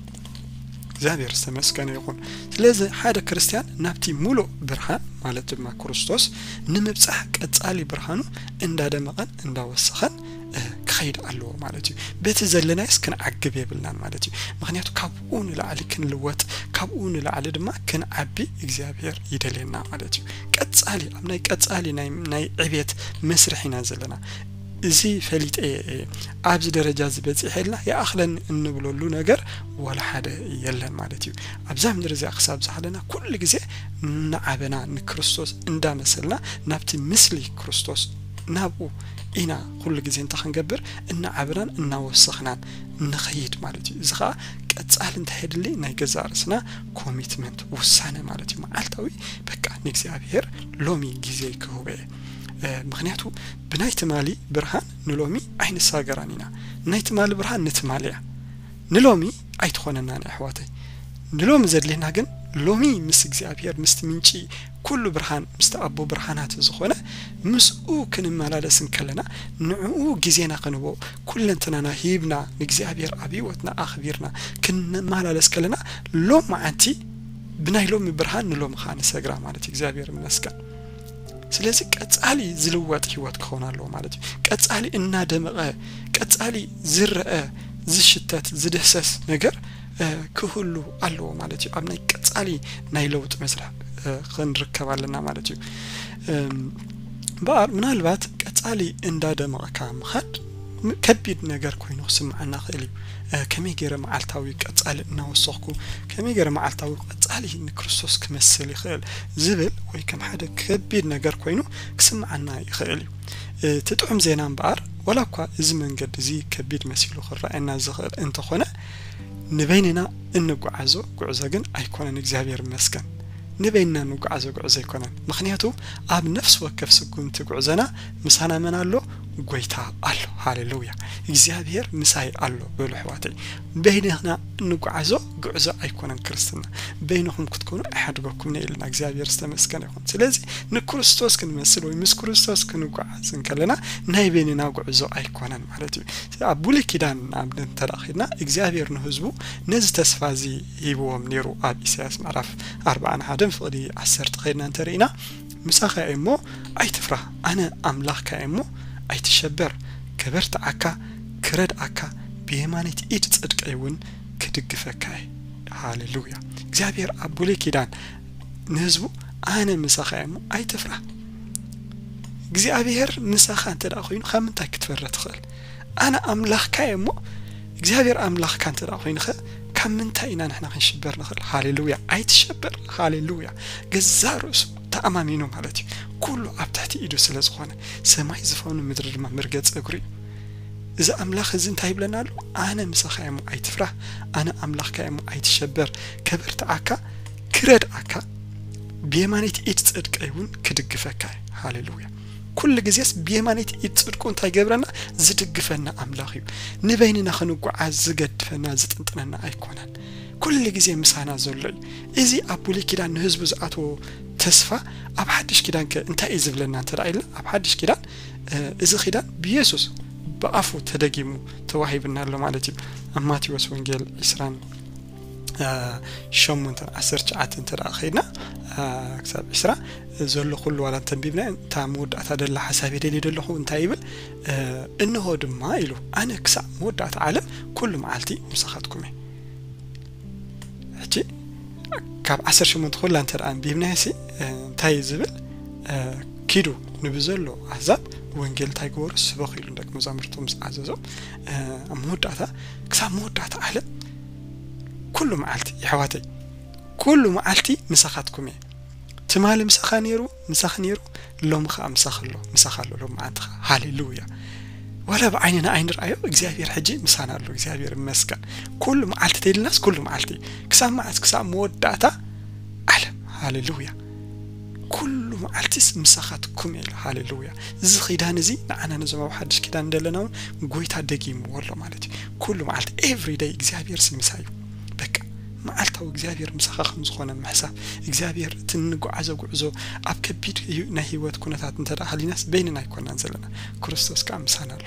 እግዚኣብሔር ዝተመስገነ ይኹን። ስለዚ ሓደ ክርስትያን ናብቲ ሙሉእ ብርሃን ማለት ድማ ክርስቶስ ንምብጻሕ ቀጻሊ ብርሃኑ እንዳደመቐን እንዳወሰኸን፣ እ፣ ክኸይድ ኣለዎ ማለት እዩ። በቲ ዘለናዮስ ክንዓግብ የብልናን ማለት እዩ። ምኽንያቱ ካብኡ ንላዕሊ ክንልወጥ፣ ካብኡ ንላዕሊ ድማ ክንዓቢ እግዚኣብሔር ይደልየና ማለት እዩ። ቀጻሊ፣ ኣብ ናይ ቀጻሊ ናይ፣ ናይ ዕቤት መስርሕ ኢና ዘለና። እዚ ፈሊጠ እየ፣ ኣብዚ ደረጃ እዚ በጺሐ ኢልና ይኣኽለኒ እንብለሉ ነገር ዋላ ሓደ የለን ማለት እዩ። ኣብዛ ምድሪ እዚኣ ክሳብ ዝሃለና ኩሉ ግዜ እናዓበና ንክርስቶስ እንዳመሰልና ናብቲ ምስሊ ክርስቶስ ናብኡ ኢና ኩሉ ግዜ እንታይ ክንገብር? እናዓበናን እናወሰኽናን ንኸይድ ማለት እዩ። እዚ ኸኣ ቀጻሊ እንታይ የድሊ? ናይ ገዛእ ርእስና ኮሚትመንት፣ ውሳነ ማለት እዩ። መዓልታዊ በቃ ንእግዚኣብሔር ሎሚ ግዜ ክህቦ እየ። እ፣ ምኽንያቱ ብናይ ትማሊ ብርሃን ንሎሚ ኣይንሳገራን ኢና። ናይ ትማሊ ብርሃን ንትማሊ እያ፣ ንሎሚ ኣይትኾነናን እያ ኣሕዋተይ። ንሎሚ ዘድልየና ግን ሎሚ ምስ እግዚኣብሔር፣ ምስቲ ምንጪ ኩሉ ብርሃን፣ ምስቲ ኣቦ ብርሃናት ዝኾነ፣ ምስኡ ክንመላለስ እንከለና፣ ንዕኡ ግዜና ክንህቦ፣ ኩለንትናና ሂብና፣ ንእግዚኣብሔር ኣብ ህይወትና ኣኽቢርና ክንመላለስ ከለና፣ ሎም መዓንቲ ብናይ ሎሚ ብርሃን ንሎሚ ኸዓ ንሰግራ ማለት እዩ። እግዚኣብሔር ይመስገን። ስለዚ ቀጻሊ ዝልወጥ ህይወት ክኸውን ኣለዎ ማለት እዩ። ቀጻሊ እናደመቐ፣ ቀጻሊ ዝረአ፣ ዝሽተት፣ ዝድህሰስ ነገር ክህሉ ኣለዎ ማለት እዩ። ኣብ ናይ ቀጻሊ ናይ ለውጢ መስርሕ ክንርከብ ኣለና ማለት እዩ። እምበኣር ምናልባት ቀጻሊ እንዳደመቕካ ምኻድ ከቢድ ነገር ኮይኑ ክስምዓና ክእል እዩ። ከመይ ገይረ መዓልታዊ ቀጻሊ እናወሰኽኩ፣ ከመይ ገይረ መዓልታዊ ቀጻሊ ንክርስቶስ ክመስል ይኽእል ዝብል ወይ ከም ሓደ ከቢድ ነገር ኮይኑ ክስምዓና ይኽእል እዩ። እቲ ጥዑም ዜና እምበኣር፣ ዋላ እኳ እዚ መንገዲ እዚ ከቢድ መሲሉ ክረኣየና ዝኽእል እንተኾነ፣ ንበይንና እንጓዓዞ ጉዕዞ ግን ኣይኮነን። እግዚኣብሔር ይመስገን፣ ንበይንና እንጓዓዞ ጉዕዞ ኣይኮነን። ምኽንያቱ ኣብ ነፍሲ ወከፍ ስጉምቲ ጉዕዞና ምሳና መን ኣሎ? ጎይታ ኣሎ። ሃሌሉያ! እግዚኣብሔር ምሳይ ኣሎ በሉ ኣሕዋተይ። በይንና እንጓዓዞ ጉዕዞ ኣይኮነን ክርስትና። በይንኹም ክትኮኑ ኣይሓድገኩምን እየ ኢልና። እግዚኣብሔር ዝተመስገነ ይኹን። ስለዚ ንክርስቶስ ክንመስል ወይ ምስ ክርስቶስ ክንጓዓዝ እንከለና ናይ በይንና ጉዕዞ ኣይኮነን ማለት እዩ። ኣብ ብሉይ ኪዳን ንኣብነት እንተ ደኣ ኸድና እግዚኣብሔር ንህዝቡ ነዚ ተስፋ እዚ ሂብዎም ነይሩ። ኣብ ኢሳያስ ምዕራፍ ኣርባዓን ሓደን ፍቕዲ ዓሰርተ ኸድና እንተ ርኢና፣ ምሳኻ እየ እሞ ኣይትፍራህ፣ ኣነ ኣምላኽካ እየ እሞ ኣይትሸበር፣ ከበርትዓካ፣ ክረድኣካ፣ ብየማነይቲ ኢድ ጽድቀይ እውን ክድግፈካ እየ። ሃሌሉያ! እግዚኣብሔር ኣብ ብሉይ ኪዳን ንህዝቡ ኣነ ምሳኻ እየ እሞ ኣይትፍራህ። እግዚኣብሔር ምሳኻ እንተ ደኣ ኮይኑ ካብ ምንታይ ክትፈርህ ትኽእል? ኣነ ኣምላኽካ እየ እሞ እግዚኣብሔር ኣምላኽካ እንተ ደኣ ኮይኑኸ ካብ ምንታይ ኢና ንሕና ክንሽበር ንኽእል? ሃሌሉያ! ኣይትሸበር። ሃሌሉያ! ገዛ ርእሱ ተኣማሚኑ ማለት እዩ። ኩሉ ኣብ ትሕቲ ኢዱ ስለ ዝኾነ፣ ሰማይ ዝፋኑ ምድሪ ድማ መርገጺ እግሩ እዩ። እዚ ኣምላኽ እዚ እንታይ ይብለና ኣሎ? ኣነ ምሳኻ እየ እሞ ኣይትፍራህ፣ ኣነ ኣምላኽካ እየ እሞ ኣይትሸበር፣ ከበርትዓካ፣ ክረድኣካ፣ ብየማነይቲ ኢድ ጽድቀይ እውን ክድግፈካ እየ። ሃሌሉያ! ኩሉ ግዜስ ብየማነይቲ ኢድ ጽድቁ እንታይ ገብረና? ዝድግፈና ኣምላኽ እዩ። ንበይንና ክንጓዓዝ ዝገድፈና፣ ዝጥንጥነና ኣይኮነን። ኩሉ ግዜ ምሳና ዘሎ እዩ። እዚ ኣብ ብሉይ ኪዳን ንህዝቡ ዝኣተዎ ተስፋ ኣብ ሓድሽ ኪዳን ከ እንታይ እዩ ዝብለና እንተ ደኣ ኢልና? ኣብ ሓድሽ ኪዳን፣ እ፣ እዚ ኪዳን ብየሱስ ብኣፉ ተደጊሙ ተዋሂብና ኣሎ ማለት እዩ። ኣብ ማቴዎስ ወንጌል ዕስራን ሸሞንተን ዓሰርተ ትሽዓተ እንተ ደኣ ኸይድና፣ እ፣ ክሳብ ዕስራ ዘሎ ኩሉ ዋላ እንተንቢብና፣ እታ መወዳእታ ደላ ሓሳብ የደልየ ዘለኹ እንታይ ይብል? እ፣ እንሆ ድማ ኢሉ፣ ኣነ ክሳብ መወዳእታ ዓለም ኩሉ መዓልቲ ምሳኻትኩም እየ። ሕጂ ካብ ዓሰርተ ሸሞንተ ኩላ እንተ ደኣ ኣንቢብናዮ ሲ፣ እ፣ እንታይ እዩ ዝብል? እ፣ ኪዱ ንብዘሎ ኣህዛብ ወንጌል እንታይ ግበሩ? ስበኹ ኢሉ ንደቂ መዛሙርቱ ምስ ኣዘዞም፣ እ፣ ኣብ መወዳእታ፣ ክሳብ መወዳእታ ዓለም ኩሉ መዓልቲ፣ የሕዋተይ፣ ኩሉ መዓልቲ ምሳኻትኩም እየ። ትማሊ ምሳኻ ነይሩ፣ ምሳኺ ነይሩ፣ ሎሚ ኸኣ ምሳኺ ኣሎ፣ ምሳኻ ኣሎ ሎሚ መዓልቲ ኸኣ። ሃሌሉያ! ዋላ ብዓይንና ኣይንርኣዮ፣ እግዚኣብሔር ሕጂ ምሳና ኣሎ። እግዚኣብሔር ይመስገን። ኩሉ መዓልቲ ተይልናስ ኩሉ መዓልቲ። ክሳብ መዓስ? ክሳብ መወዳእታ ዓለም። ሃሌሉያ! ኩሉ መዓልቲስ ምሳኻትኩም እየ ኢሉ። ሃሌሉያ! እዚ ኪዳን እዚ ንዓና ነዞም ኣብ ሓድሽ ኪዳን እንደለና እውን ጎይታ ደጊምዎ ኣሎ ማለት እዩ። ኩሉ መዓልቲ፣ ኤቭሪ ደይ እግዚኣብሔር ሲ ምሳይ እዩ። በቃ መዓልታዊ እግዚኣብሔር ምሳኻ ከም ዝኾነ ምሕሳብ፣ እግዚኣብሔር እቲ እንጓዓዞ ጉዕዞ ኣብ ከቢድ ህዩ-፣ ናይ ህይወት ኩነታት እንተ ደኣ ሃሊናስ በይንና ኣይኮናን ዘለና፣ ክርስቶስ ከኣ ምሳና ኣሎ።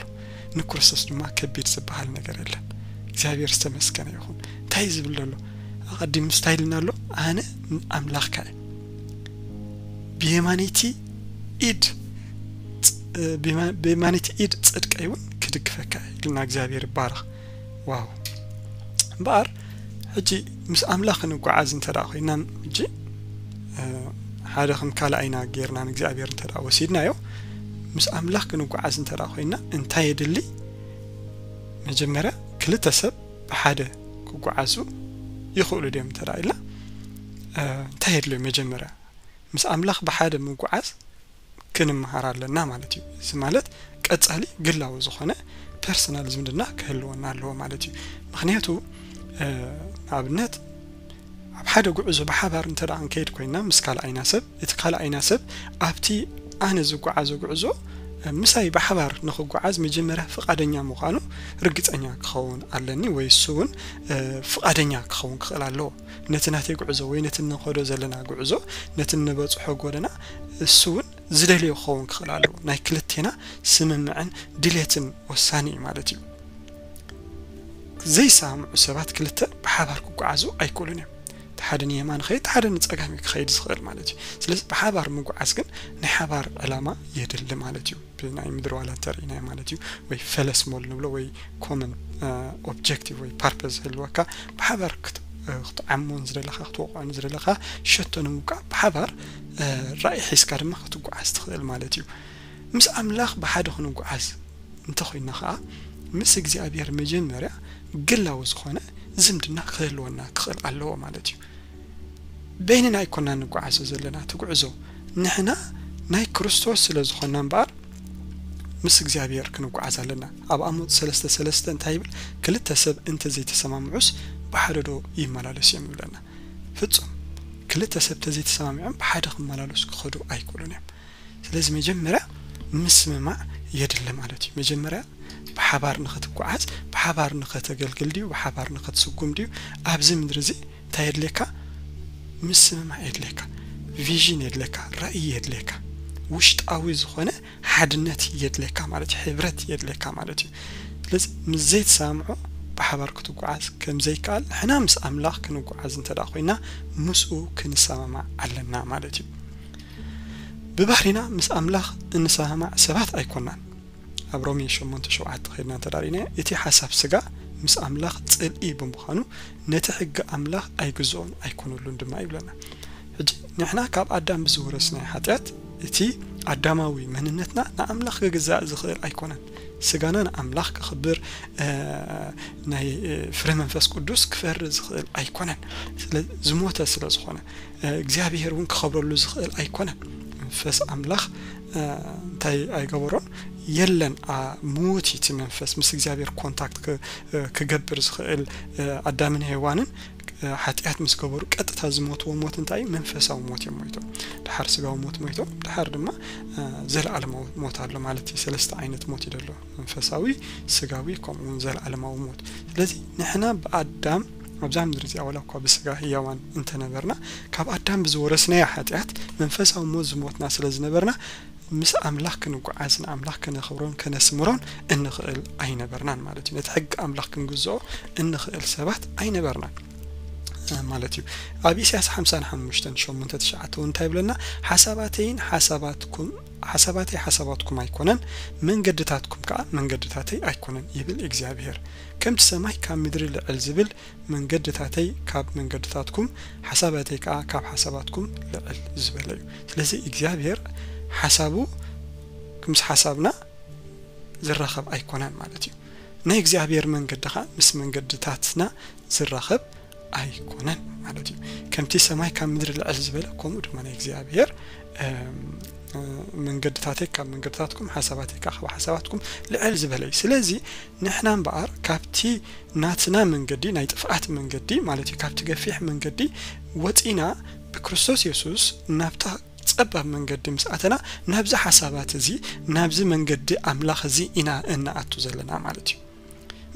ንክርስቶስ ድማ ከቢድ ዝበሃል ነገር የለን። እግዚኣብሔር ዝተመስገነ ይኹን። እንታይ እዩ ዝብል ዘሎ? ኣቐዲሙ እንታይ ኢልና ኣሎ? ኣነ ኣምላኽካ እየ። ብየማነይቲ ኢድ ጽ-፣ ብየማ-፣ ብየማነይቲ ኢድ ጽድቀይ እውን ክድግፈካ እየ ኢልና እግዚኣብሔር ይባረኽ። ዋው! እምበኣር ሕጂ ምስ ኣምላኽ ክንጓዓዝ እንተ ደኣ ኮይና፣ ሕጂ፣ እ፣ ሓደ ከም ካልኣይና ጌርና ንእግዚኣብሔር እንተ ደኣ ወሲድናዮ፣ ምስ ኣምላኽ ክንጓዓዝ እንተ ደኣ ኮይና እንታይ የድሊ? መጀመርያ ክልተ ሰብ ብሓደ ክጓዓዙ ይኽእሉ ድዮም እንተ ደኣ ኢልና፣ እ፣ እንታይ የድልዮ? መጀመርያ ምስ ኣምላኽ ብሓደ ምጉዓዝ ክንመሃር ኣለና ማለት እዩ። እዚ ማለት ቀጻሊ ግላዊ ዝኾነ ፐርሰናል ዝምድና ክህልወና ኣለዎ ማለት እዩ። ምኽንያቱ፣ እ፣ ንኣብነት ኣብ ሓደ ጉዕዞ ብሓባር እንተ ደኣ ክንከይድ ኮይና ምስ ካልኣይና ሰብ፣ እቲ ካልኣይና ሰብ ኣብቲ ኣነ ዝጓዓዞ ጉዕዞ፣ እ፣ ምሳይ ብሓባር ንኽጓዓዝ መጀመርያ ፍቓደኛ ምዃኑ ርግጸኛ ክኸውን ኣለኒ ወይ እሱ እውን፣ እ፣ ፍቓደኛ ክኸውን ክኽእል ኣለዎ። ነቲ ናተይ ጉዕዞ ወይ ነቲ እንኸዶ ዘለና ጉዕዞ፣ ነቲ እንበጽሖ ጎደና እሱ እውን ዝደልዮ ክኸውን ክኽእል ኣለዎ። ናይ ክልቴና ስምምዕን ድሌትን ወሳኒ እዩ ማለት እዩ። ዘይሰማምዑ ሰባት ክልተ ብሓባር ክጓዓዙ ኣይክእሉን እዮም። እንተ ሓደ ንየማን ኸይድ፣ ሓደ ንጸጋም እዩ ክኸይድ ዝኽእል ማለት እዩ። ስለዚ ብሓባር ምጉዓዝ ግን ናይ ሓባር ዕላማ የድሊ ማለት እዩ። ብናይ ምድሪ ዋላ እንተርኢናዮ ማለት እዩ። ወይ ፈለስ ሞል ንብሎ ወይ ኮመን ኦብጀክቲቭ ወይ ፐርፐዝ ዝህልወካ፣ ብሓባር ክት- ክትዓሞን ዝደለኻ ክትወቕዖን ዝደለኻ ሸቶ ንምውቃዕ ብሓባር ራእይ ሒዝካ ድማ ክትጓዓዝ ትኽእል ማለት እዩ። ምስ ኣምላኽ ብሓደ ክንጓዓዝ እንተኾይና ኸዓ ምስ እግዚኣብሔር መጀመርያ ግላዊ ዝኾነ ዝምድና ክህልወና ክኽእል ኣለዎ ማለት እዩ። በይንና ኣይኮና ንጓዓዞ ዘለና እቲ ጉዕዞ፣ ንሕና ናይ ክርስቶስ ስለ ዝኾና እምበኣር ምስ እግዚኣብሔር ክንጓዓዝ ኣለና። ኣብ ኣሞጽ ሰለስተ ሰለስተ እንታይ ይብል? ክልተ ሰብ እንተ ዘይተሰማምዑስ ብሓደ ዶ ይመላለሱ እዮም ይብለና። ፍጹም ክልተ ሰብ ተዘይተሰማሚዖም ብሓደ ክመላለሱ ክኸዱ ኣይክእሉን እዮም። ስለዚ መጀመርያ ምስምማዕ የድሊ ማለት እዩ። መጀመርያ ብሓባር ንኸትጓዓዝ፣ ብሓባር ንኸተገልግል ድዩ፣ ብሓባር ንኸትስጉም ድዩ፣ ኣብዚ ምድሪ እዚ እንታይ የድልየካ? ምስምማዕ የድልየካ፣ ቪዥን የድልየካ፣ ራእይ የድልየካ፣ ውሽጣዊ ዝኾነ ሓድነት የድልየካ ማለት እዩ፣ ሕብረት የድልየካ ማለት እዩ። ስለዚ ምስ ዘይተሰማምዑ ብሓባር ክትጓዓዝ ከም ዘይከኣል፣ ንሕና ምስ ኣምላኽ ክንጓዓዝ እንተ ደኣ ኮይና ምስኡ ክንሰማማዕ ኣለና ማለት እዩ። ብባህሪና ምስ ኣምላኽ እንሰማማዕ ሰባት ኣይኮናን። ኣብ ሮሜ ሸሞንተ ሸውዓተ ኸይድና እንተ ደኣ ርኢናዮ፣ እቲ ሓሳብ ስጋ ምስ ኣምላኽ ጽልኢ ብምዃኑ ነቲ ሕጊ ኣምላኽ ኣይግዝኦን ኣይኮነሉን ድማ ይብለና። ሕጂ ንሕና ካብ ኣዳም ብዝወረስናዮ ሓጢኣት እቲ ኣዳማዊ መንነትና ንኣምላኽ ክግዛእ ዝኽእል ኣይኮነን። ስጋና ንኣምላኽ ከኽብር፣ እ፣ ናይ፣ እ፣ ፍረ መንፈስ ቅዱስ ክፈሪ ዝኽእል ኣይኮነን። ስለ ዝሞተ ስለ ዝኾነ፣ እ፣ እግዚኣብሔር እውን ክኸብረሉ ዝኽእል ኣይኮነን። መንፈስ ኣምላኽ፣ እ፣ እንታይ ኣይገበሮን የለን። ኣ፣ ምዉት እዩ እቲ መንፈስ ምስ እግዚኣብሔር ኮንታክት ክ-፣ እ፣ ክገብር ዝኽእል፣ እ፣ ኣዳምን ሄዋንን፣ እ፣ ሓጢኣት ምስ ገበሩ ቀጥታ ዝሞትዎ ሞት እንታይ እዩ? መንፈሳዊ ሞት እዮም ሞይቶም። ድሓር ስጋዊ ሞት ሞይቶም፣ ድሓር ድማ፣ እ፣ ዘለኣለማዊ ሞት ኣሎ ማለት እዩ። ሰለስተ ዓይነት ሞት እዩ ዘሎ። መንፈሳዊ፣ ስጋዊ፣ ከምኡ እውን ዘለኣለማዊ ሞት። ስለዚ ንሕና ብኣዳም ኣብዛ ምድሪ እዚኣ ዋላ እኳ ብስጋ ህያዋን እንተነበርና፣ ካብ ኣዳም ብዝወረስናዮ ሓጢኣት መንፈሳዊ ሞት ዝሞትና ስለ ዝነበርና፣ ምስ ኣምላኽ ክንጓዓዝ፣ ንኣምላኽ ከነኽብሮን ከነስምሮን እንኽእል ኣይነበርናን ማለት እዩ። ነቲ ሕጊ ኣምላኽ ክንግዝኦ እንኽእል ሰባት ኣይነበርናን፣ እ፣ ማለት እዩ። ኣብ ኢሳያስ ሓምሳን ሓሙሽተን ሸሞንተ ትሽዓተ እውን እንታይ ይብለና? "ሓሳባተይን ሓሳባትኩም፣ ሓሳባተይ ሓሳባትኩም ኣይኮነን፣ መንገድታትኩም ከኣ መንገድታተይ ኣይኮነን ይብል እግዚኣብሔር። ከምቲ ሰማይ ካብ ምድሪ ልዕል ዝብል መንገድታተይ ካብ መንገድታትኩም፣ ሓሳባተይ ከኣ ካብ ሓሳባትኩም ልዕል ዝበለ እዩ።" ስለዚ እግዚኣብሔር ሓሳቡ ምስ ሓሳብና ዝራኸብ ኣይኮነን ማለት እዩ። ናይ እግዚኣብሔር መንገዲ ኸኣ ምስ መንገድታትና ዝራኸብ ኣይኮነን ማለት እዩ። ከምቲ ሰማይ ካብ ምድሪ ልዕል ዝበለ፣ ከምኡ ድማ ናይ እግዚኣብሔር፣ እም፣ እ፣ መንገድታተይ ካብ መንገድታትኩም፣ ሓሳባተይ ከኣ ካብ ሓሳባትኩም ልዕል ዝበለ እዩ። ስለዚ ንሕና እምበኣር ካብቲ ናትና መንገዲ፣ ናይ ጥፍኣት መንገዲ ማለት እዩ፣ ካብቲ ገፊሕ መንገዲ ወጺና ብክርስቶስ የሱስ ናብታ ጸባብ መንገዲ ምስ ኣተና፣ ናብዚ ሓሳባት እዚ፣ ናብዚ መንገዲ ኣምላኽ እዚ ኢና እንኣቱ ዘለና ማለት እዩ።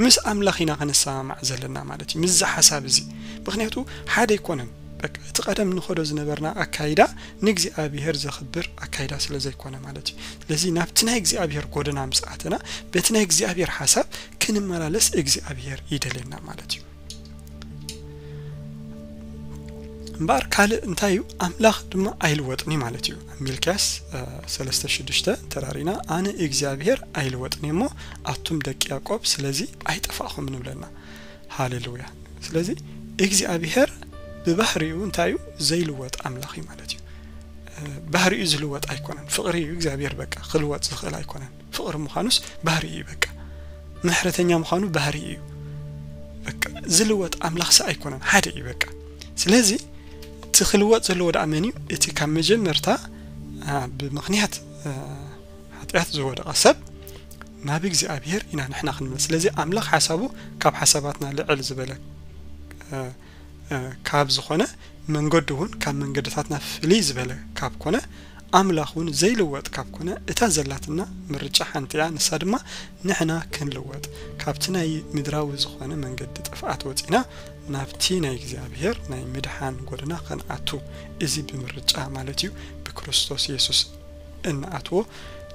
ምስ ኣምላኽ ኢና ክንሰማማዕ ዘለና ማለት እዩ፣ ምስዚ ሓሳብ እዚ። ምኽንያቱ ሓደ ኣይኮነን። በቃ፣ እቲ ቀደም ንኸዶ ዝነበርና ኣካይዳ ንእግዚኣብሔር ዘኽብር ኣካይዳ ስለ ዘይኮነ ማለት እዩ። ስለዚ ናብቲ ናይ እግዚኣብሔር ጎደና ምስ ኣተና፣ በቲ ናይ እግዚኣብሔር ሓሳብ ክንመላለስ እግዚኣብሔር ይደልየና ማለት እዩ። እምበኣር ካልእ እንታይ እዩ? ኣምላኽ ድማ ኣይልወጥን እዩ ማለት እዩ። ኣብ ሚልክያስ፣ እ፣ ሰለስተ ሽዱሽተ ተራሪና፣ "ኣነ እግዚኣብሔር ኣይልወጥን እየ እሞ፣ ኣቱም ደቂ ያዕቆብ፣ ስለዚ ኣይጠፋእኹምን" ንብለና። ሃሌሉያ። ስለዚ እግዚኣብሔር ብባህሪኡ እንታይ እዩ? ዘይልወጥ ኣምላኽ እዩ ማለት እዩ። እ፣ ባህሪኡ ዝልወጥ ኣይኮነን። ፍቕሪ እዩ እግዚኣብሔር፣ በቃ፣ ክልወጥ ዝኽእል ኣይኮነን። ፍቕሪ ምዃኑስ ባህሪ እዩ፣ በቃ። ምሕረተኛ ምዃኑ ባህሪ እዩ። በቃ፣ ዝልወጥ ኣምላኽሲ ኣይኮነን፣ ሓደ እዩ፣ በቃ። ስለዚ እቲ ክልወጥ ዘለዎ ደኣ መን እዩ? እቲ ካብ መጀመርታ፣ አ፣ ብምኽንያት፣ አ፣ ሓጢኣት ዝወደቐ ሰብ ናብ እግዚኣብሔር ኢና ንሕና ክንምለስ። ስለዚ ኣምላኽ ሓሳቡ ካብ ሓሳባትና ልዕል ዝበለ፣ አ፣ እ፣ ካብ ዝኾነ፣ መንገዱ እውን ካብ መንገድታትና ፍልይ ዝበለ ካብ ኮነ፣ ኣምላኽ እውን ዘይልወጥ ካብ ኮነ፣ እታ ዘላትና ምርጫ ሓንቲ እያ፣ ንሳ ድማ ንሕና ክንልወጥ፣ ካብቲ ናይ ምድራዊ ዝኾነ መንገዲ ጥፍኣት ወጺና ናብቲ ናይ እግዚኣብሔር ናይ ምድሓን ጎደና ክንኣቱ። እዚ ብምርጫ ማለት እዩ፣ ብክርስቶስ የሱስ እንኣትዎ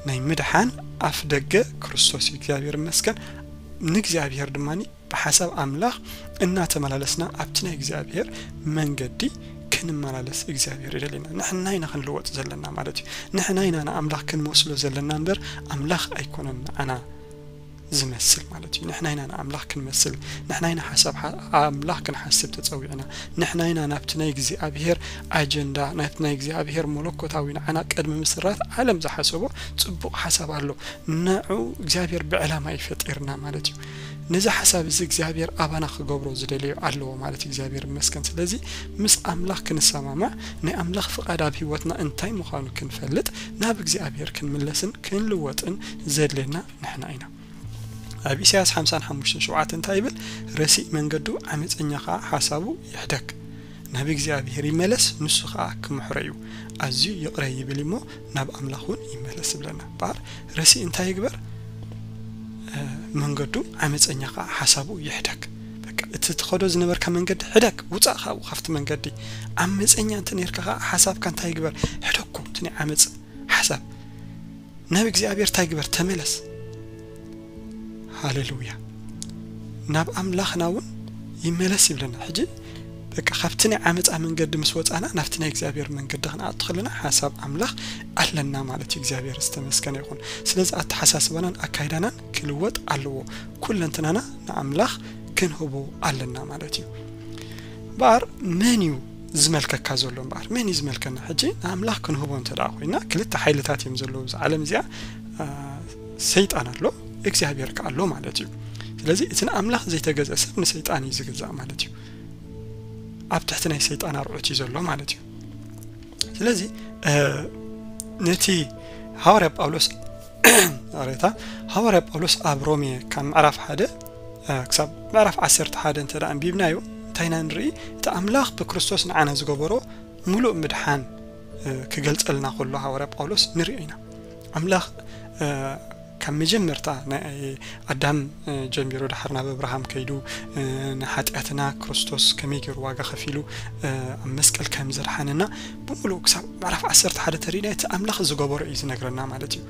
ናይ ምድሓን ኣፍ ደገ ክርስቶስ እዩ። እግዚኣብሔር ይመስገን። ንእግዚኣብሔር ድማ ብሓሳብ ኣምላኽ እናተመላለስና ኣብቲ ናይ እግዚኣብሔር መንገዲ ክንመላለስ እግዚኣብሔር ይደልየና። ንሕና ኢና ክንልወጥ ዘለና ማለት እዩ። ንሕና ኢና ንኣምላኽ ክንመስሎ ዘለና እምበር ኣምላኽ ኣይኮነን ንዓና ዝመስል ማለት እዩ። ንሕና ኢና ንኣምላኽ ክንመስል፣ ንሕና ኢና ሓሳብ ሓ- ኣምላኽ ክንሓስብ ተጸዊዕና፣ ንሕና ኢና ናብቲ ናይ እግዚኣብሔር ኣጀንዳ፣ ናብቲ ናይ እግዚኣብሔር መለኮታዊ ንዓና ቅድሚ ምስራት ዓለም ዝሓሰቦ ጽቡቕ ሓሳብ ኣሎ። ንዑ እግዚኣብሔር ብዕላማ እዩ ፈጢርና ማለት እዩ። ነዚ ሓሳብ እዚ እግዚኣብሔር ኣባና ክገብሮ ዝደለዮ ኣለዎ ማለት እዩ። እግዚኣብሔር ይመስገን። ስለዚ ምስ ኣምላኽ ክንሰማማዕ፣ ናይ ኣምላኽ ፍቓድ ኣብ ህይወትና እንታይ ምዃኑ ክንፈልጥ፣ ናብ እግዚኣብሔር ክንምለስን ክንልወጥን ዘድልየና ንሕና ኢና። ኣብ ኢሳያስ ሓምሳን ሓሙሽተን ሸውዓተ እንታይ ይብል? ረሲእ መንገዱ ዓመፀኛ ኸዓ ሓሳቡ ይሕደግ። ናብ እግዚኣብሔር ይመለስ፣ ንሱ ኸዓ ክምሕሮ እዩ። ኣዝዩ ይቕረ ይብል እሞ ናብ ኣምላኽ እውን ይመለስ ይብለና። እምበኣር ረሲእ እንታይ ይግበር? እ፣ መንገዱ ዓመፀኛ ኸዓ ሓሳቡ ይሕደግ። በቃ፣ እቲ ትኸዶ ዝነበርካ መንገዲ ሕደግ፣ ውፃእ ካብኡ፣ ካብቲ መንገዲ። ዓመፀኛ እንተ ነርካ ኸዓ ሓሳብካ እንታይ ይግበር? ሕደግኮ፣ እቲ ናይ ዓመፅ ሓሳብ። ናብ እግዚኣብሔር እንታይ ግበር? ተመለስ። ሃሌሉያ። ናብ ኣምላኽና እውን ይመለስ ይብለና። ሕጂ በቃ ካብቲ ናይ ዓመፃ መንገዲ ምስ ወፃና ናብቲ ናይ እግዚኣብሔር መንገዲ ክንኣቱ ከለና ሓሳብ ኣምላኽ ኣለና ማለት እዩ። እግዚኣብሔር ዝተመስገነ ይኹን። ስለዚ ኣተሓሳስባናን ኣካይዳናን ክልወጥ ኣለዎ። ኩለንትናና ንኣምላኽ ክንህቦ ኣለና ማለት እዩ። እምበኣር መን እዩ ዝመልከካ ዘሎ? እምበኣር መን እዩ ዝመልከና? ሕጂ ንኣምላኽ ክንህቦ እንተ ደኣ ኮይና ክልተ ሓይልታት እዮም ዘለዉ። እዛ ዓለም እዚኣ፣ አ፣ ሰይጣን ኣሎ፣ እግዚኣብሔር ከኣ ኣሎ ማለት እዩ። ስለዚ እቲ ንኣምላኽ ዘይተገዝአ ሰብ ንሰይጣን እዩ ዝግዛእ ማለት እዩ። ኣብ ትሕቲ ናይ ሰይጣን ኣርዑት እዩ ዘሎ ማለት እዩ። ስለዚ፣ እ፣ ነቲ ሃዋርያ ጳውሎስ፣ ይቕሬታ፣ ሃዋርያ ጳውሎስ ኣብ ሮሜ ካብ ምዕራፍ ሓደ፣ እ፣ ክሳብ ምዕራፍ ዓሰርተ ሓደ እንተ ደኣ ኣንቢብናዮ፣ እንታይ ኢና ንርኢ? እቲ ኣምላኽ ብክርስቶስ ንዓና ዝገበሮ ምሉእ ምድሓን፣ እ፣ ክገልጸልና ከሎ ሃዋርያ ጳውሎስ ንሪኦ ኢና። ኣምላኽ፣ እ፣ ካብ መጀመርታ ናይ ኣዳም፣ እ፣ ጀሚሩ ድሓር ናብ ኣብርሃም ከይዱ፣ እ፣ ንሓጢኣትና ክርስቶስ ከመይ ገይሩ ዋጋ ከፊሉ፣ እ፣ ኣብ መስቀል ከም ዘድሓነና ብምሉእ ክሳብ ምዕራፍ ዓሰርተ ሓደ ተሪእና እቲ ኣምላኽ ዝገበሮ እዩ ዝነግረና ማለት እዩ።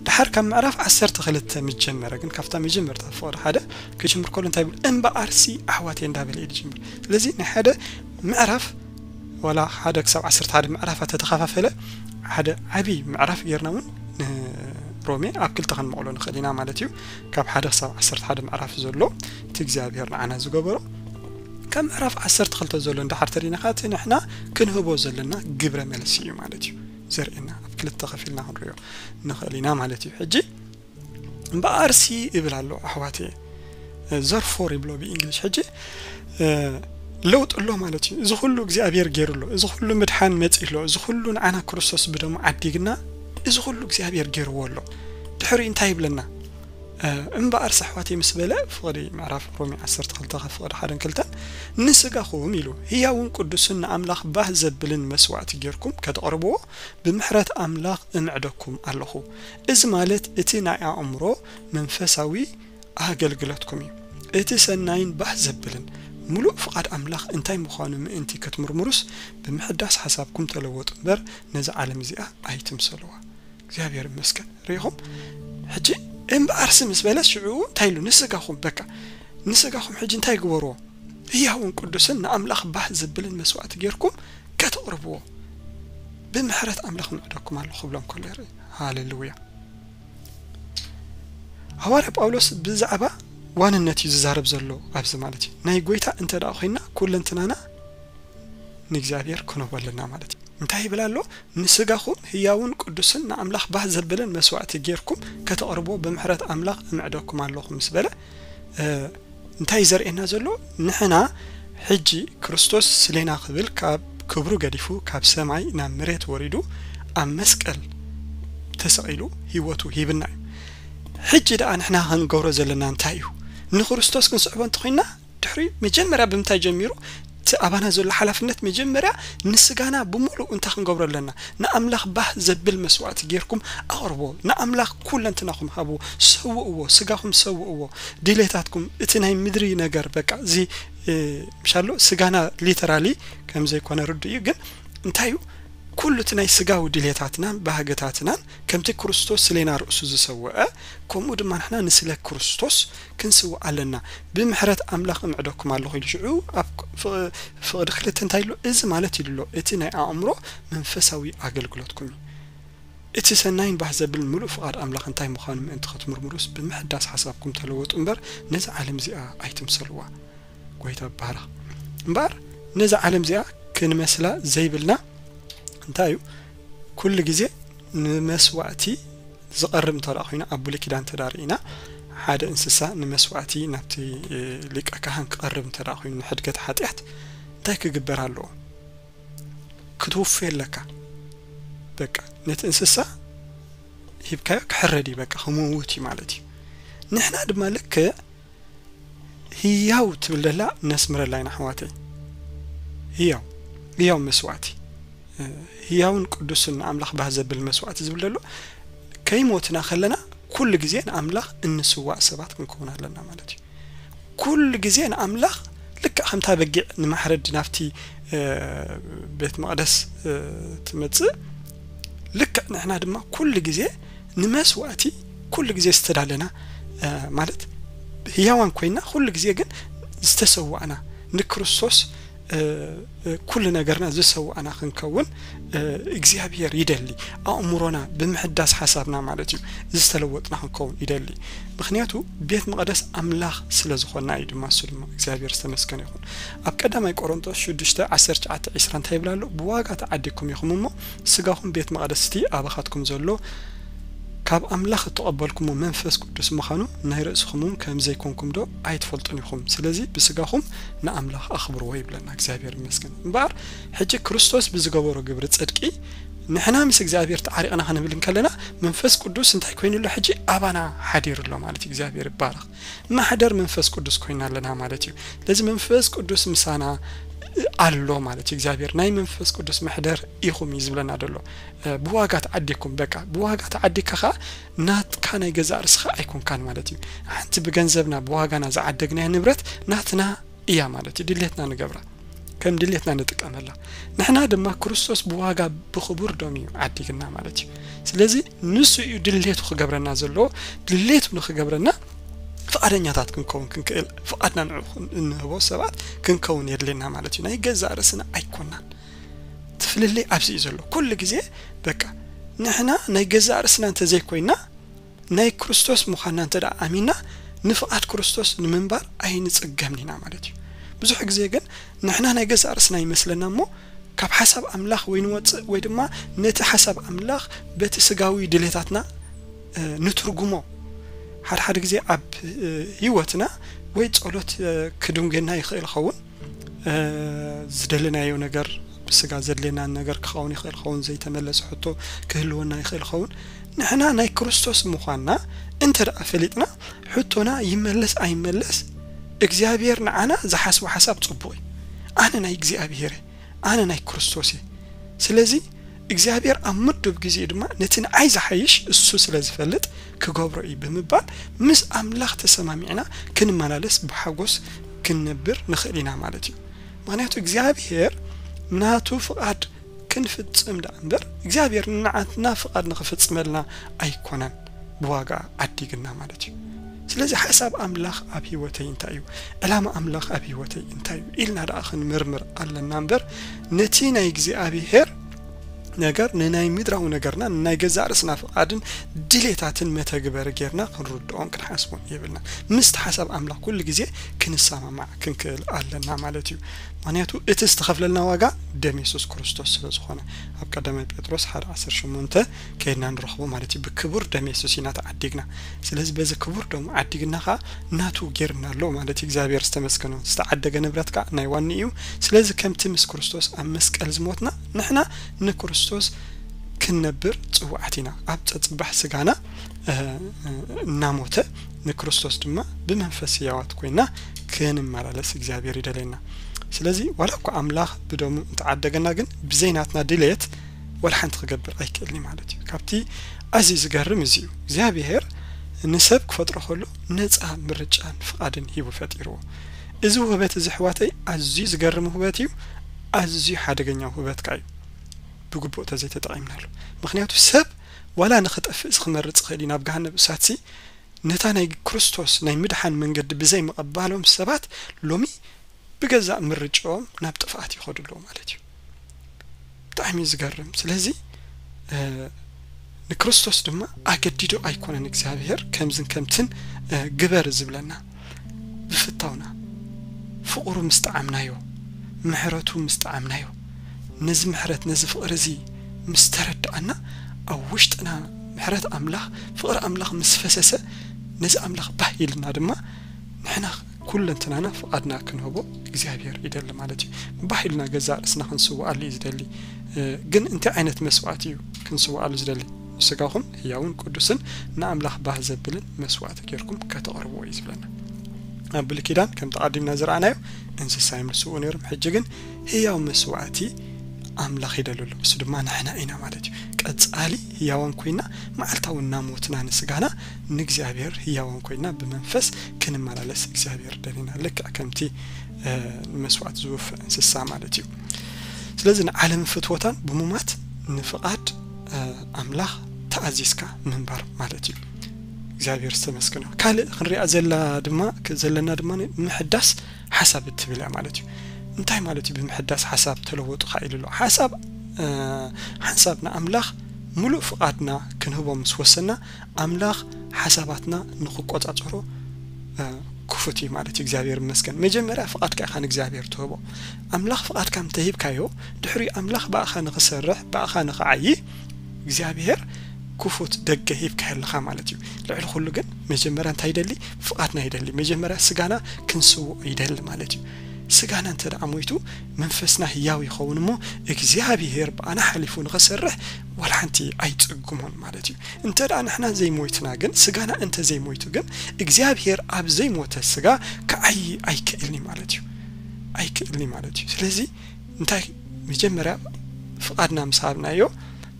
ድሓር ካብ ምዕራፍ ዓሰርተ ክልተ ምስ ጀመረ ግን ካብታ መጀመርታ ፍቕዲ ሓደ ክጅምር ከሎ እንታይ ይብል? እምበኣርሲ ኣሕዋተይ እንዳበለ እዩ ዝጅምር። ስለዚ ናይ ሓደ ምዕራፍ ዋላ ሓደ ክሳብ ዓሰርተ ሓደ ምዕራፋት ተተኸፋፈለ ሓደ ዓቢ ምዕራፍ ጌርና እውን ንሮሜ ኣብ ክልተ ክንመቕሎ ንኽእል ኢና ማለት እዩ። ካብ ሓደ ክሳብ ዓሰርተ ሓደ ምዕራፍ ዘሎ እቲ እግዚኣብሔር ንዓና ዝገበሮ፣ ካብ ምዕራፍ ዓሰርተ ክልተ ዘሎ እንድሓር ተሪእና ኸዓ እቲ ንሕና ክንህቦ ዘለና ግብረ መልሲ እዩ ማለት እዩ ዘርእየና። ኣብ ክልተ ከፊልና ክንሪኦ ንኽእል ኢና ማለት እዩ። ሕጂ እምበኣርሲ እብል ኣሎ ኣሕዋተየ፣ ዘርፎር ይብሎ ብእንግሊሽ። ሕጂ፣ እ፣ ለውጢ ኣሎ ማለት እዩ። እዚ ኩሉ እግዚኣብሔር ገይሩ ኣሎ። እዚ ኩሉ ምድሓን መጺኡ ኣሎ። እዚ ኩሉ ንዓና ክርስቶስ ብደሙ ዓዲግና፣ እዚ ኩሉ እግዚኣብሔር ገይርዎ ኣሎ። ድሕሪኡ እንታይ ይብለና? እ፣ እምበኣርሲ ኣሕዋተየ ምስ በለ፣ ፍቕዲ ምዕራፍ ሮሜ ዓሰርተ ክልተ ካብ ፍቕዲ ሓደን ክልተን፣ ንስጋኹም ኢሉ፣ ህያውን ቅዱስን ንኣምላኽ ባህ ዘብልን መስዋእቲ ጌርኩም ከተቕርብዎ፣ ብምሕረት ኣምላኽ እምዕደኩም ኣለኹ። እዚ ማለት እቲ ናይ ኣእምሮ መንፈሳዊ ኣገልግሎትኩም እዩ። እቲ ሰናይን ባህ ዘብልን ምሉእ ፍቓድ ኣምላኽ እንታይ ምዃኑ ምእንቲ ክትምርምሩስ፣ ብምሕዳስ ሓሳብኩም ተለወጡ እምበር፣ ነዛ ዓለም እዚኣ ኣይትምሰልዋ። እግዚኣብሔር ይመስገን። ርኢኹም? ሕጂ እምበኣርሲ ምስ በለ ሽዑ እንታይ ኢሉ? ንስጋኹም፣ በቃ፣ ንስጋኹም ሕጂ እንታይ ግበርዎ? ህያውን ቅዱስን ንኣምላኽ ባህ ዘብልን መስዋእቲ ጌርኩም ከተቕርብዎ፣ ብምሕረት ኣምላኽ እምዕደኩም ኣለኹ ክብሎም ከሎ ይርኢ። ሃሌሉያ። ሃዋርያ ጳውሎስ ብዛዕባ ዋንነት እዩ ዝዛረብ ዘሎ ኣብዚ ማለት እዩ። ናይ ጐይታ እንተ ደኣ ኾይንና፣ ኩለንትናና ንእግዚኣብሔር ክንህቦ ኣለና ማለት እዩ። እንታይ ይብል ኣሎ? ንስጋኹም ህያውን ቅዱስን ንኣምላኽ ባህ ዘብልን መስዋእቲ ጌርኩም ከተቕርብዎ ብምሕረት ኣምላኽ እምዕደኩም ኣለኹ ምስ በለ፣ እ፣ እንታይ እዩ ዘርእየና ዘሎ? ንሕና ሕጂ ክርስቶስ ስሌና ክብል ካብ ክብሩ ገዲፉ ካብ ሰማይ ናብ መሬት ወሪዱ ኣብ መስቀል ተሰቒሉ ህይወቱ ሂብና እዩ። ሕጂ ደኣ ንሕና ክንገብሮ ዘለና እንታይ እዩ? ንክርስቶስ ክንስዕቦ እንተኾይንና ድሕሪ መጀመርያ ብምንታይ ጀሚሩ? እቲ ኣባና ዘሎ ሓላፍነት መጀመርያ ንስጋና ብምሉእ እንታይ ክንገብሮ ኣለና? ንኣምላኽ ባህ ዘብል መስዋእቲ ጌርኩም ኣቕርቦ። ንኣምላኽ ኩለንትናኹም ሃብዎ፣ ሰውእዎ፣ ስጋኹም ሰውእዎ። ድሌታትኩም፣ እቲ ናይ ምድሪ ነገር በቃ እዚ፣ እ፣ ምሻሎ ስጋና ሊተራሊ ከም ዘይኮነ ርዱእ እዩ፣ ግን እንታይ እዩ? ኩሉ እቲ ናይ ስጋዊ ድሌታትናን ባህግታትናን ከምቲ ክርስቶስ ስሌና ርእሱ ዝሰወአ፣ ከምኡ ድማ ንሕና ንስለ ክርስቶስ ክንስውእ ኣለና። ብምሕረት ኣምላኽ እምዕደኩም ኣለኹ ኢሉ። ሽዑ ኣብ ፍቕ-፣ ፍቕዲ ክልተ እንታይ ኢሉ? እዚ ማለት ኢሉ ኣሎ፣ እቲ ናይ ኣእምሮ መንፈሳዊ ኣገልግሎትኩም እዩ። እቲ ሰናይን ባህ ዘብል ምሉእ ፍቓድ ኣምላኽ እንታይ ምዃኑ ምእንቲ ክትምርምሩስ፣ ብምሕዳስ ሓሳብኩም ተለወጡ እምበር፣ ነዚ ዓለም እዚኣ ኣይትምሰልዋ። ጎይታ ይባረኽ። እምበኣር ነዚ ዓለም እዚኣ ክንመስላ ዘይብልና እንታይ እዩ? ኩሉ ግዜ ንመስዋእቲ ዝቐርብ እንተ ደኣ ኮይና፣ ኣብ ብሉይ ኪዳን እንተ ደኣ ርኢና፣ ሓደ እንስሳ ንመስዋእቲ ናብቲ፣ እ፣ ሊቀ ካህን ክቐርብ እንተ ደኣ ኮይኑ፣ ንሕድገት ሓጢኣት እንታይ ክግበር ኣለዎ? ክትውፍዮ ኣለካ። በቃ ነቲ እንስሳ ሂብካዮ ክሕረድ እዩ፣ በቃ ክመውት እዩ ማለት እዩ። ንሕና ድማ ልክዕ ህያው ትብል ዘላ ነስምረላ ኢና ኣሕዋተይ። ህያው፣ ህያው መስዋእቲ፣ እ፣ ህያውን ቅዱስን ንኣምላኽ ባህ ዘብል መስዋእቲ ዝብል ዘሎ፣ ከይሞትና ከለና ኩሉ ግዜ ንኣምላኽ እንስዋእ ሰባት ክንከውን ኣለና ማለት እዩ። ኩሉ ግዜ ንኣምላኽ ልክዕ ከምታ በጊዕ ንማሕረድ ናብቲ፣ እ፣ ቤት መቕደስ፣ እ፣ ትመጽእ፣ ልክዕ ንሕና ድማ ኩሉ ግዜ ንመስዋእቲ ኩሉ ግዜ ዝተዳለና፣ እ፣ ማለት ህያዋን ኮይና ኩሉ ግዜ ግን ዝተሰዋእና ንክርስቶስ፣ እ፣ እ፣ ኩሉ ነገርና ዝሰዋእና ክንከውን፣ እ፣ እግዚኣብሔር ይደሊ። ኣእምሮና ብምሕዳስ ሓሳብና ማለት እዩ ዝተለወጥና ክንከውን ይደሊ። ምኽንያቱ ቤት መቕደስ ኣምላኽ ስለ ዝኾንና እዩ ድማ፣ እሱ ድማ እግዚኣብሔር ዝተመስገነ ይኹን። ኣብ ቀዳማይ ቆሮንቶስ ሽዱሽተ ዓሰርተ ትሽዓተ ዒስራ እንታይ ይብል ኣሎ? "ብዋጋ ተዓዲግኩም ኢኹም እሞ፣ ስጋኹም ቤት መቕደስ እቲ ኣባኻትኩም ዘሎ ካብ ኣምላኽ እተቐበልኩሞ መንፈስ ቅዱስ ምዃኑ ናይ ርእስኹም እውን ከም ዘይኮንኩም ዶ ኣይትፈልጡን ኢኹም? ስለዚ ብስጋኹም ንኣምላኽ ኣኽብርዎ" ይብለና። እግዚኣብሔር ይመስገን። እምበኣር ሕጂ ክርስቶስ ብዝገበሮ ግብሪ ጽድቂ ንሕና ምስ እግዚኣብሔር ተዓሪቕና ክንብል እንከለና፣ መንፈስ ቅዱስ እንታይ ኮይኑ ኣሎ? ሕጂ ኣባና ሓዲሩ ኣሎ ማለት እዩ። እግዚኣብሔር ይባረኽ። ማሕደር መንፈስ ቅዱስ ኮይና ኣለና ማለት እዩ። ስለዚ መንፈስ ቅዱስ ምሳና ኣሎ ማለት እዩ። እግዚኣብሔር ናይ መንፈስ ቅዱስ መሕደር ኢኹም እዩ ዝብለና ዘሎ። እ፣ ብዋጋ ተዓዲግኩም፣ በቃ ብዋጋ ተዓዲግካ ኸዓ ናትካ ናይ ገዛእ ርእስኻ ኣይኮንካን ማለት እዩ። ሓንቲ ብገንዘብና ብዋጋና ዝዓደግናያ ንብረት ናትና እያ ማለት እዩ። ድሌትና ንገብራ፣ ከም ድሌትና ንጥቀመላ። ንሕና ድማ ክርስቶስ ብዋጋ ብኽቡር ደም እዩ ዓዲግና ማለት እዩ። ስለዚ ንሱ እዩ ድሌቱ ክገብረና ዘለዎ። ድሌቱ ንክገብረና ፍቓደኛታት ክንከውን ክንክእል፣ ፍቓድና ንዕኡ እንህቦ ሰባት ክንከውን የድልየና ማለት እዩ። ናይ ገዛእ ርእስና ኣይኮናን። እቲ ፍልልይ ኣብዚ እዩ ዘሎ። ኩሉ ግዜ በቃ ንሕና ናይ ገዛእ ርእስና እንተዘይኮይና፣ ናይ ክርስቶስ ምዃንና እንተ ደኣ ኣሚንና፣ ንፍቓድ ክርስቶስ ንምንባር ኣይንጽገምን ኢና ማለት እዩ። ብዙሕ ግዜ ግን ንሕና ናይ ገዛእ ርእስና ይመስለና እሞ፣ ካብ ሓሳብ ኣምላኽ ወይ ንወጽእ ወይ ድማ ነቲ ሓሳብ ኣምላኽ በቲ ስጋዊ ድሌታትና፣ እ፣ ንትርጉሞ። ሓደ ሓደ ግዜ ኣብ፣ እ፣ ህይወትና ወይ ጸሎት፣ እ፣ ክድንገና ይኽእል ይኸውን። እ፣ ዝደለናዮ ነገር፣ ብስጋ ዘድልየና ነገር ክኸውን ይኽእል ይኸውን፣ ዘይተመለሰ ሕቶ ክህልወና ይኽእል ይኸውን። ንሕና ናይ ክርስቶስ ምዃንና እንተ ደኣ ፈሊጥና፣ ሕቶና ይመለስ ኣይመለስ፣ እግዚኣብሔር ንዓና ዝሓስቦ ሓሳብ ጽቡቕ እዩ። ኣነ ናይ እግዚኣብሔር እየ፣ ኣነ ናይ ክርስቶስ እየ። ስለዚ እግዚኣብሔር ኣብ ምዱብ ግዜ ድማ ነቲ ንዓይ ዝሓይሽ እሱ ስለ ዝፈልጥ ክገብሮ እዩ ብምባል ምስ ኣምላኽ ተሰማሚዕና ክንመላለስ ብሓጎስ ክንነብር ንኽእል ኢና ማለት እዩ። ምኽንያቱ እግዚኣብሔር ናቱ ፍቓድ ክንፍጽም ደኣ እምበር እግዚኣብሔር ንዓትና ፍቓድ ንኽፍጽመልና ኣይኮነን ብዋጋ ዓዲግና ማለት እዩ። ስለዚ ሓሳብ ኣምላኽ ኣብ ህይወተይ እንታይ እዩ? ዕላማ ኣምላኽ ኣብ ህይወተይ እንታይ እዩ? ኢልና ደኣ ክንምርምር ኣለና እምበር ነቲ ናይ እግዚኣብሔር ነገር ንናይ ምድራዊ ነገርና ንናይ ገዛእ ርእስና ፍቓድን ድሌታትን መተግበሪ ጌርና ክንርድኦን ክንሓስቦን የብልና። ምስቲ ሓሳብ ኣምላኽ ኩሉ ግዜ ክንሰማማዕ ክንክእል ኣለና ማለት እዩ። ምኽንያቱ እቲ ዝተኸፍለልና ዋጋ ደም የሱስ ክርስቶስ ስለ ዝኾነ ኣብ ቀዳማይ ጴጥሮስ ሓደ ዓሰርተ ሸሞንተ ከይድና ንረኽቦ ማለት እዩ። ብክቡር ደም የሱስ ኢና ተዓዲግና። ስለዚ በዚ ክቡር ደሙ ዓዲግና ኸዓ ናቱ ጌርና ኣሎ ማለት እዩ። እግዚኣብሔር ዝተመስገነ። ዝተዓደገ ንብረት ከዓ ናይ ዋኒ እዩ። ስለዚ ከምቲ ምስ ክርስቶስ ኣብ መስቀል ዝሞትና ንሕና ንክርስቶስ ክንነብር ጽዋዓት ኢና። ኣብ ጸጽባሕ ስጋና፣ እ፣ እናሞተ ንክርስቶስ ድማ ብመንፈስ ህያዋት ኮይና ክንመላለስ እግዚኣብሔር ይደልየና። ስለዚ ዋላ እኳ ኣምላኽ ብደሙ እንተዓደገና ግን ብዘይ ናትና ድሌት ዋላ ሓንቲ ክገብር ኣይክእልን እዩ ማለት እዩ። ካብቲ ኣዝዩ ዝገርም እዚ እዩ። እግዚኣብሔር ንሰብ ክፈጥሮ ከሎ ነጻ ምርጫን ፍቓድን ሂቡ ፈጢርዎ። እዚ ውህበት እዚ ኣሕዋተይ ኣዝዩ ዝገርም ውህበት እዩ። ኣዝዩ ሓደገኛ ውህበት ከኣ እዩ። ብግቡእ ተዘይተጠቒምናሉ። ምኽንያቱ ሰብ ዋላ ንኽጠፍእ ክመርጽ ይኽእል እዩ ናብ ገሃነብ እሳትሲ፣ ነታ ናይ ክርስቶስ ናይ ምድሓን መንገዲ ብዘይምቕባሎም ሰባት ሎሚ ብገዛእ ምርጫኦም ናብ ጥፍኣት ይኸዱ ኣለዉ ማለት እዩ። ብጣዕሚ እዩ ዝገርም። ስለዚ ንክርስቶስ ድማ ኣገዲዶ ኣይኮነን እግዚኣብሔር ከምዝን ከምትን ግበር ዝብለና። ብፍታውና ፍቕሩ ምስ ጠዓምናዮ፣ ምሕረቱ ምስ ጠዓምናዮ፣ ነዚ ምሕረት ነዚ ፍቕሪ እዚ ምስ ተረዳእና፣ ኣብ ውሽጥና ምሕረት ኣምላኽ፣ ፍቕሪ ኣምላኽ ምስ ፈሰሰ፣ ነዚ ኣምላኽ ባህ ኢልና ድማ ንሕና ኩለንትናና ፍቓድና ክንህቦ እግዚኣብሔር ይደሊ ማለት እዩ። ባህ ኢልና ገዛእ ርእስና ክንስውኣሉ እዩ ዝደሊ። ግን እንታይ ዓይነት መስዋእቲ እዩ ክንስውኣሉ ዝደሊ? ስጋኹም ህያውን ቅዱስን ንኣምላኽ ባህ ዘብልን መስዋእቲ ጌርኩም ከተቕርብዎ እዩ ዝብለና። ኣብ ብሉይ ኪዳን ከም ተቐዲምና ዝረኣናዮ እንስሳ የምልስዎ ነይሮም። ሕጂ ግን ህያው መስዋእቲ ኣምላኽ ይደሊ ኣሎ። እሱ ድማ ንሕና ኢና ማለት እዩ። ቀጻሊ ህያዋን ኮይና መዓልታዊ እናሞትና ንስጋና ንእግዚኣብሔር ህያዋን ኮይና ብመንፈስ ክንመላለስ እግዚኣብሔር ደሊና። ልክዕ ከምቲ መስዋእቲ ዝወፍእ እንስሳ ማለት እዩ። ስለዚ ንዓለም ፍትወታን ብሙማት ንፍቓድ ኣምላኽ ተኣዚዝካ ምንባር ማለት እዩ። እግዚኣብሔር ዝተመስገነ። ካልእ ክንሪኣ ዘላ ድማ ዘለና ድማ ምሕዳስ ሓሳብ እትብል እያ ማለት እዩ። እንታይ ማለት እዩ ብምሕዳስ ሓሳብ ተለወጡ ኢሉ ኣሎ? ሓሳብ ሓንሳብ ንኣምላኽ ምሉእ ፍቓድና ክንህቦ ምስ ወሰና ኣምላኽ ሓሳባትና ንኽቆጻጸሮ ክፉት እዩ ማለት እዩ። እግዚኣብሔር ይመስገን። መጀመርያ ፍቓድካ ኢኻ ንእግዚኣብሔር ትህቦ። ኣምላኽ ፍቓድካ እንተሂብካዮ፣ ድሕሪኡ ኣምላኽ ብኣኻ ንኽሰርሕ፣ ብኣኻ ንኽዓዪ እግዚኣብሔር ክፉት ደገ ሂብካ ኣለኻ ማለት እዩ። ልዕሊ ኩሉ ግን መጀመርያ እንታይ ይደሊ? ፍቓድና ይደሊ። መጀመርያ ስጋና ክንስውኦ ይደሊ ማለት እዩ። ስጋና እንተ ደኣ ሞይቱ መንፈስና ህያው ይኸውን እሞ እግዚኣብሔር ብኣና ሓሊፉ ንኽሰርሕ ዋላ ሓንቲ ኣይጽግሞን ማለት እዩ። እንተ ደኣ ንሕና ዘይሞይትና ግን፣ ስጋና እንተ ዘይሞይቱ ግን እግዚኣብሔር ኣብ ዘይሞተ ስጋ ክዓዪ ኣይክእልን እዩ ማለት እዩ። ኣይክእልን እዩ ማለት እዩ። ስለዚ እንታይ መጀመርያ ፍቓድና ምስ ሃብናዮ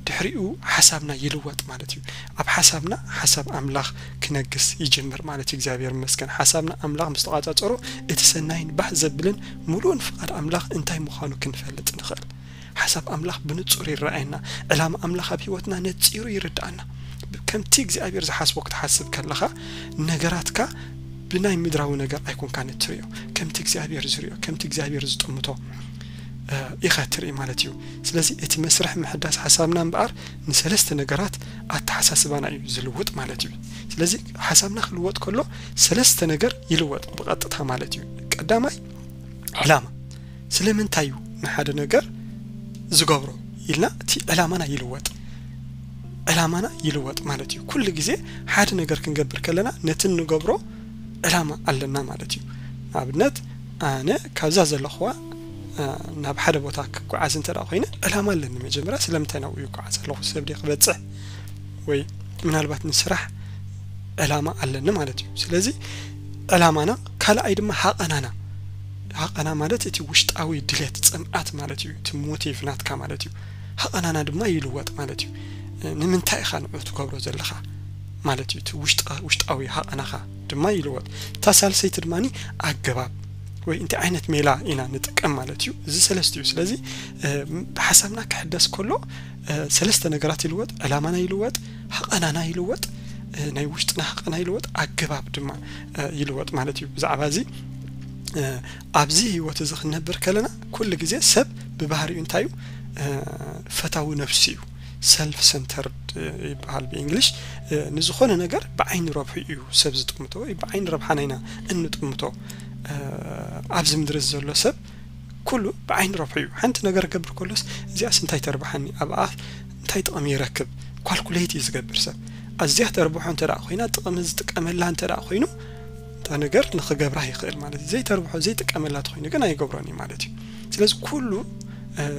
ድሕሪኡ ሓሳብና ይልወጥ ማለት እዩ። ኣብ ሓሳብና ሓሳብ ኣምላኽ ክነግስ ይጅምር ማለት እዩ። እግዚኣብሔር ይመስገን። ሓሳብና ኣምላኽ ምስ ተቋጻጸሮ እቲ ሰናይን ባህ ዘብልን ምሉእን ፍቓድ ኣምላኽ እንታይ ምዃኑ ክንፈልጥ ንኽእል። ሓሳብ ኣምላኽ ብንጹር ይረኣየና። ዕላማ ኣምላኽ ኣብ ህይወትና ነጺሩ ይርድኣና። ከምቲ እግዚኣብሔር ዝሓስቦ ክትሓስብ ከለኻ ነገራትካ ብናይ ምድራዊ ነገር ኣይኮንካን እትርእዮ። ከምቲ እግዚኣብሔር ዝርእዮ፣ ከምቲ እግዚኣብሔር ዝጥምቶ ኢኻ ትርኢ ማለት እዩ። ስለዚ እቲ መስርሕ ምሕዳስ ሓሳብና እምበኣር ንሰለስተ ነገራት ኣተሓሳስባና እዩ ዝልውጥ ማለት እዩ። ስለዚ ሓሳብና ክልወጥ ከሎ ሰለስተ ነገር ይልወጥ ብቐጥታ ማለት እዩ። ቀዳማይ ዕላማ፣ ስለምንታይ እዩ ንሓደ ነገር ዝገብሮ ኢልና እቲ ዕላማና ይልወጥ። ዕላማና ይልወጥ ማለት እዩ። ኩሉ ግዜ ሓደ ነገር ክንገብር ከለና ነቲ እንገብሮ ዕላማ ኣለና ማለት እዩ። ንኣብነት ኣነ ካብዛ ዘለኹዋ ናብ ሓደ ቦታ ክጓዓዝ እንተ ደኣ ኮይነ ዕላማ ኣለኒ። መጀመርያ ስለምንታይ ናብኡ ይጓዓዝ ኣለኹ? ሰብ ድየ ክበጽሕ ወይ ምናልባት ንስራሕ ዕላማ ኣለኒ ማለት እዩ። ስለዚ ዕላማና፣ ካልኣይ ድማ ሃቐናና። ሃቐና ማለት እቲ ውሽጣዊ ድሌት፣ ጽምኣት ማለት እዩ። እቲ ሞቲቭ ናትካ ማለት እዩ። ሃቐናና ድማ ይልወጥ ማለት እዩ። ንምንታይ ኢኻ ንዑ ትገብሮ ዘለኻ ማለት እዩ። እቲ ውሽጣዊ ሃቐናኻ ድማ ይልወጥ። እታ ሳልሰይቲ ድማ ኣገባብ ወይ እንታይ ዓይነት ሜላ ኢና ንጥቀም ማለት እዩ። እዚ ሰለስተ እዩ። ስለዚ ብሓሳብና ክሕደስ ከሎ ሰለስተ ነገራት ይልወጥ። ዕላማና ይልወጥ፣ ሃቐናና ይልወጥ፣ ናይ ውሽጥና ሃቐና ይልወጥ፣ ኣገባብ ድማ ይልወጥ ማለት እዩ። ብዛዕባ እዚ ኣብዚ ህይወት እዚ ክንነብር ከለና ኩሉ ግዜ ሰብ ብባህሪኡ እንታይ እዩ? ፈታዊ ነፍሱ እዩ። ሰልፍ ሰንተርድ ይበሃል ብእንግሊሽ። ንዝኾነ ነገር ብዓይኒ ረብሑ እዩ ሰብ ዝጥምቶ ወይ ብዓይኒ ረብሓና ኢና እንጥምቶ። ኣብዚ ምድሪ ዘሎ ሰብ ኩሉ ብዓይኒ ረብሑ እዩ። ሓንቲ ነገር ገብር ከሎስ እዚኣስ እንታይ ተርብሓኒ፣ ኣብኣ እንታይ ጥቕሚ ይረክብ፣ ኳልኩሌት እዩ ዝገብር ሰብ። ኣዝያ ተርብሖ እንተ ደኣ ኮይና፣ ጥቕሚ ዝጥቀመላ እንተ ደኣ ኮይኑ፣ እታ ነገር ንኽገብራ ይኽእል ማለት እዩ። ዘይተርብሖ ዘይጥቀመላ ተኾይኑ ግን ኣይገብሮን እዩ ማለት እዩ። ስለዚ ኩሉ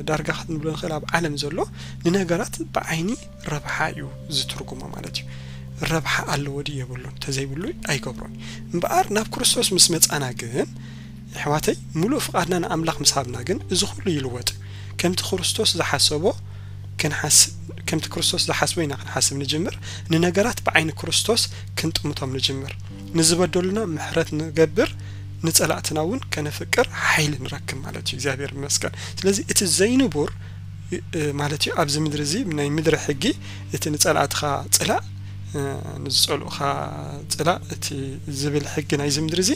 ዳርጋ ክንብሎ ንኽእል ኣብ ዓለም ዘሎ ንነገራት ብዓይኒ ረብሓ እዩ ዝትርጉሞ ማለት እዩ። ረብሓ ኣለዎ ድዩ የብሉን፣ ተዘይብሉ ኣይገብሮን። እምበኣር ናብ ክርስቶስ ምስ መጻና ግን ኣሕዋተይ፣ ምሉእ ፍቓድና ንኣምላኽ ምስ ሃብና ግን እዚ ኩሉ ይልወጥ። ከምቲ ክርስቶስ ዝሓሰቦ ክንሓስብ፣ ከምቲ ክርስቶስ ዝሓስቦ ኢና ክንሓስብ ንጅምር። ንነገራት ብዓይኒ ክርስቶስ ክንጥምቶም ንጅምር። ንዝበደሉና ምሕረት ንገብር፣ ንጸላእትና እውን ከነፍቅር ሓይሊ ንረክብ ማለት እዩ። እግዚኣብሔር ይመስገን። ስለዚ እቲ ዘይንቡር ማለት እዩ። ኣብዚ ምድሪ እዚ ናይ ምድሪ ሕጊ፣ እቲ ንጸላእትኻ ጽላእ፣ ንዝጸልኡኻ ጽላእ፣ እቲ ዝብል ሕጊ ናይዚ ምድሪ እዚ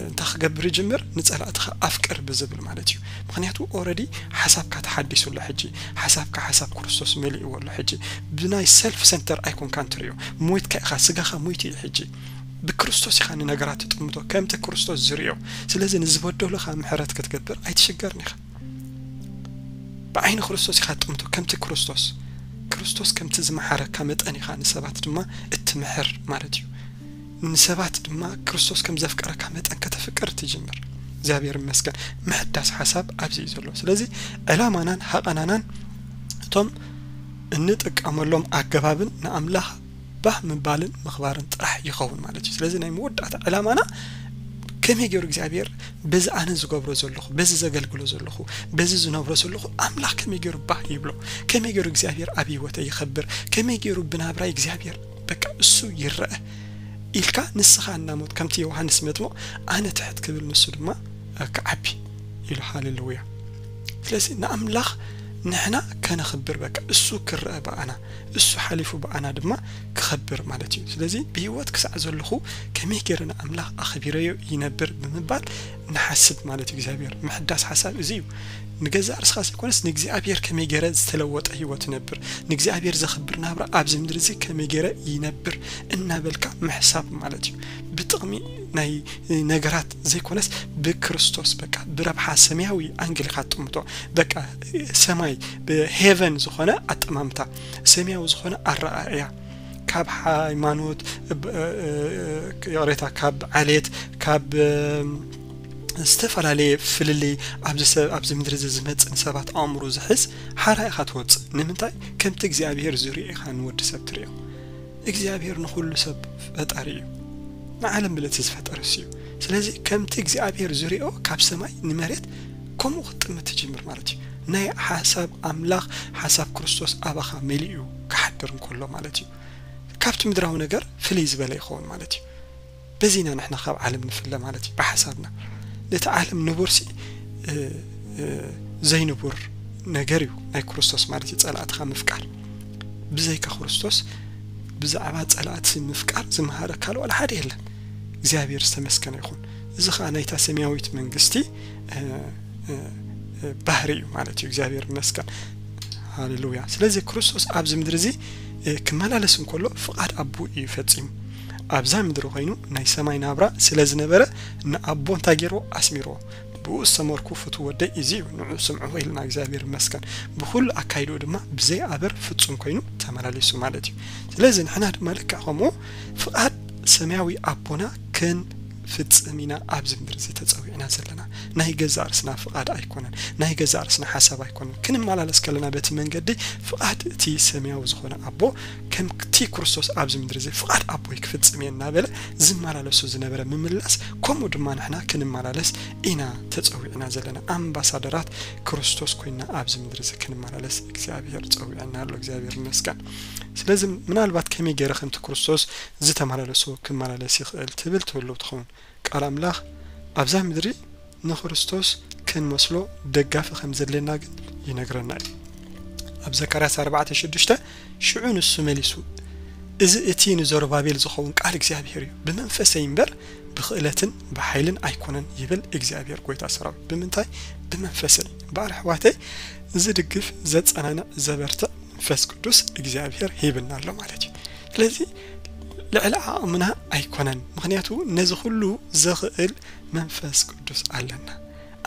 እንታይ ክገብር ይጅምር? ንጸላእትኻ ኣፍቅር ብዝብል ማለት እዩ። ምክንያቱ ኦረዲ ሓሳብካ ተሓዲሱ ኣሎ ሕጂ። ሓሳብካ ሓሳብ ክርስቶስ መሊእዎ ኣሎ ሕጂ። ብናይ ሰልፍ ሰንተር ኣይኮንካን ትሪኦ። ሞይትካ ኢኻ፣ ስጋኻ ሞይቱ እዩ ሕጂ። ብክርስቶስ ኢኻ ንነገራት ትጥምቶ፣ ከምቲ ክርስቶስ ዝሪኦ። ስለዚ ንዝበደሉኻ ምሕረት ክትገብር ኣይትሽገርን ኢኻ። ብዓይኒ ክርስቶስ ኢኻ ትጥምቶ፣ ከምቲ ክርስቶስ። ክርስቶስ ከምቲ ዝመሓረካ መጠን ኢኻ ንሰባት ድማ እትምሕር ማለት እዩ። ንሰባት ድማ ክርስቶስ ከም ዘፍቀረካ መጠን ከተፍቅር ትጅምር። እግዚኣብሔር ይመስገን። ምሕዳስ ሓሳብ ኣብዚ እዩ ዘሎ። ስለዚ ዕላማናን ሃቐናናን እቶም እንጥቀመሎም ኣገባብን ንኣምላኽ ባህ ምባልን ምኽባርን ጥራሕ ይኸውን ማለት እዩ። ስለዚ ናይ መወዳእታ ዕላማና ከመይ ገይሩ እግዚኣብሔር በዚ ኣነ ዝገብሮ ዘለኹ፣ በዚ ዘገልግሎ ዘለኹ፣ በዚ ዝነብሮ ዘለኹ ኣምላኽ ከመይ ገይሩ ባህ ይብሎ፣ ከመይ ገይሩ እግዚኣብሔር ኣብ ህይወተይ ይኸብር፣ ከመይ ገይሩ ብናብራይ እግዚኣብሔር በቃ እሱ ይረአ ኢልካ ንስኻ እናሞት፣ ከምቲ ዮሃንስ መጥምቕ ኣነ ትሕት ክብል ንሱ ድማ ክዓቢ ኢሉ። ሃሌሉያ። ስለዚ ንኣምላኽ ንሕና ከነኽብር በቃ እሱ ክረአ ብኣና፣ እሱ ሓሊፉ ብኣና ድማ ክኸብር ማለት እዩ። ስለዚ ብህይወት ክሳዕ ዘለኹ ከመይ ገይረ ንኣምላኽ ኣኽቢረዮ ይነብር ብምባል ንሓስብ ማለት እዩ። እግዚኣብሔር ምሕዳስ ሓሳብ እዚ እዩ። ንገዛእ ርስኻ ዘይኮነስ ንእግዚኣብሔር ከመይ ገይረ ዝተለወጠ ህይወት ይነብር፣ ንእግዚኣብሔር ዘኽብር ናብራ ኣብዚ ምድሪ እዚ ከመይ ገይረ ይነብር እናበልካ ምሕሳብ ማለት እዩ። ብጥቕሚ ናይ ነገራት ዘይኮነስ ብክርስቶስ በቃ ብረብሓ ሰማያዊ ኣንግል ኢኻ ትጥምቶ። በቃ ሰማይ ብሄቨን ዝኾነ ኣጠማምታ፣ ሰማያዊ ዝኾነ ኣረኣእያ፣ ካብ ሃይማኖት፣ ብ-፣ እ-፣ እ-፣ ይቕሬታ፣ ካብ ዓሌት፣ ካብ፣ እ-፣ ዝተፈላለየ ፍልልይ ኣብዚ ሰብ፣ ኣብዚ ምድሪ እዚ ዝመጽእ ንሰባት ኣእምሮ ዝሕዝ ሓራ ኢኻ ትወጽእ። ንምንታይ? ከምቲ እግዚኣብሔር ዝሪኦ ኢኻ ንወዲ ሰብ ትሪኦ። እግዚኣብሔር ንኹሉ ሰብ ፈጣሪ እዩ። ንዓለም ብለቲ ዝፈጠረ እሱ እዩ። ስለዚ ከምቲ እግዚኣብሔር ዝሪኦ ካብ ሰማይ ንመሬት ከምኡ ክትጥምት ትጅምር ማለት እዩ። ናይ ሓሳብ ኣምላኽ፣ ሓሳብ ክርስቶስ ኣባኻ መሊኡ ክሓድር እንከሎ ማለት እዩ። ካብቲ ምድራዊ ነገር ፍልይ ዝበለ ይኸውን ማለት እዩ። በዚና ንሕና ካብ ዓለም ንፍለ ማለት እዩ፣ ብሓሳብና። ነቲ ዓለም ንቡርሲ፣ እ፣ እ፣ ዘይንቡር ነገር እዩ ናይ ክርስቶስ ማለት እዩ፣ ጸላእትኻ ምፍቃር። ብዘይካ ክርስቶስ ብዛዕባ ጸላእቲ ምፍቃር ዝመሃረካ ካልእ ዋላ ሓደ የለን። እግዚኣብሔር ዝተመስገነ ይኹን። እዚ ኸኣ ናይታ ሰማያዊት መንግስቲ፣ እ፣ እ፣ እ፣ ባህሪ እዩ ማለት እዩ። እግዚኣብሔር ይመስገን። ሃሌሉያ። ስለዚ ክርስቶስ ኣብዚ ምድሪ እዚ፣ እ፣ ክመላለስ እንከሎ ፍቓድ ኣቦ እዩ ፈጺሙ። ኣብዛ ምድሪ ኮይኑ ናይ ሰማይ ናብራ ስለ ዝነበረ ንኣቦ እንታይ ገይርዎ? ኣስሚርዎ። ብኡ ዝተመርኩ ፍቱው ወደይ እዚ እዩ፣ ንዑ ስምዑ ኢልና እግዚኣብሔር ይመስገን። ብኹሉ ኣካይድኡ ድማ ብዘይ ኣበር ፍጹም ኮይኑ ተመላሊሱ ማለት እዩ። ስለዚ ንሕና ድማ ልክዕ ከምኡ ፍቓድ ሰማያዊ ኣቦና ክንፍጽም ኢና ኣብዚ ምድሪ እዚ ተጸዊዕና ዘለና። ናይ ገዛእ ርእስና ፍቓድ ኣይኮነን፣ ናይ ገዛእ ርእስና ሓሳብ ኣይኮነን። ክንመላለስ ከለና በቲ መንገዲ ፍቓድ እቲ ሰማያዊ ዝኾነ ኣቦ ከምቲ ክርስቶስ ኣብዚ ምድሪ እዚ ፍቓድ ኣቦይ ክፍጽም እየ እናበለ ዝመላለሱ ዝነበረ ምምላስ፣ ከምኡ ድማ ንሕና ክንመላለስ ኢና ተጸዊዕና ዘለና። ኣምባሳደራት ክርስቶስ ኮይና ኣብዚ ምድሪ እዚ ክንመላለስ እግዚኣብሔር ጸዊዕና ኣሎ። እግዚኣብሔር ይመስገን። ስለዚ ምናልባት ከመይ ገይረ ከምቲ ክርስቶስ ዝተመላለሶ ክመላለስ ይኽእል ትብል ትህልው ትኸውን። ቃል ኣምላኽ ኣብዛ ምድሪ ንክርስቶስ ክንመስሎ ደጋፊ ከም ዘድልየና ግን ይነግረና እዩ። ኣብ ዘካርያስ ኣርባዕተ ሽዱሽተ ሽዑ ንሱ መሊሱ፣ "እዚ እቲ ንዘሩባቤል ዝኸውን ቃል እግዚኣብሔር እዩ፣ ብመንፈሰይ እምበር ብኽእለትን ብሓይልን ኣይኮነን ይብል እግዚኣብሔር ጐይታ ሰራዊት." ብምንታይ? ብመንፈሰይ። እምበኣር ኣሕዋተይ፣ ዝድግፍ፣ ዘጸናንዕ፣ ዘበርትዕ መንፈስ ቅዱስ እግዚኣብሔር ሂብና ኣሎ ማለት እዩ። ስለዚ ልዕሊ ዓቕምና ኣይኮነን፣ ምኽንያቱ ነዚ ኩሉ ዘኽእል መንፈስ ቅዱስ ኣለና።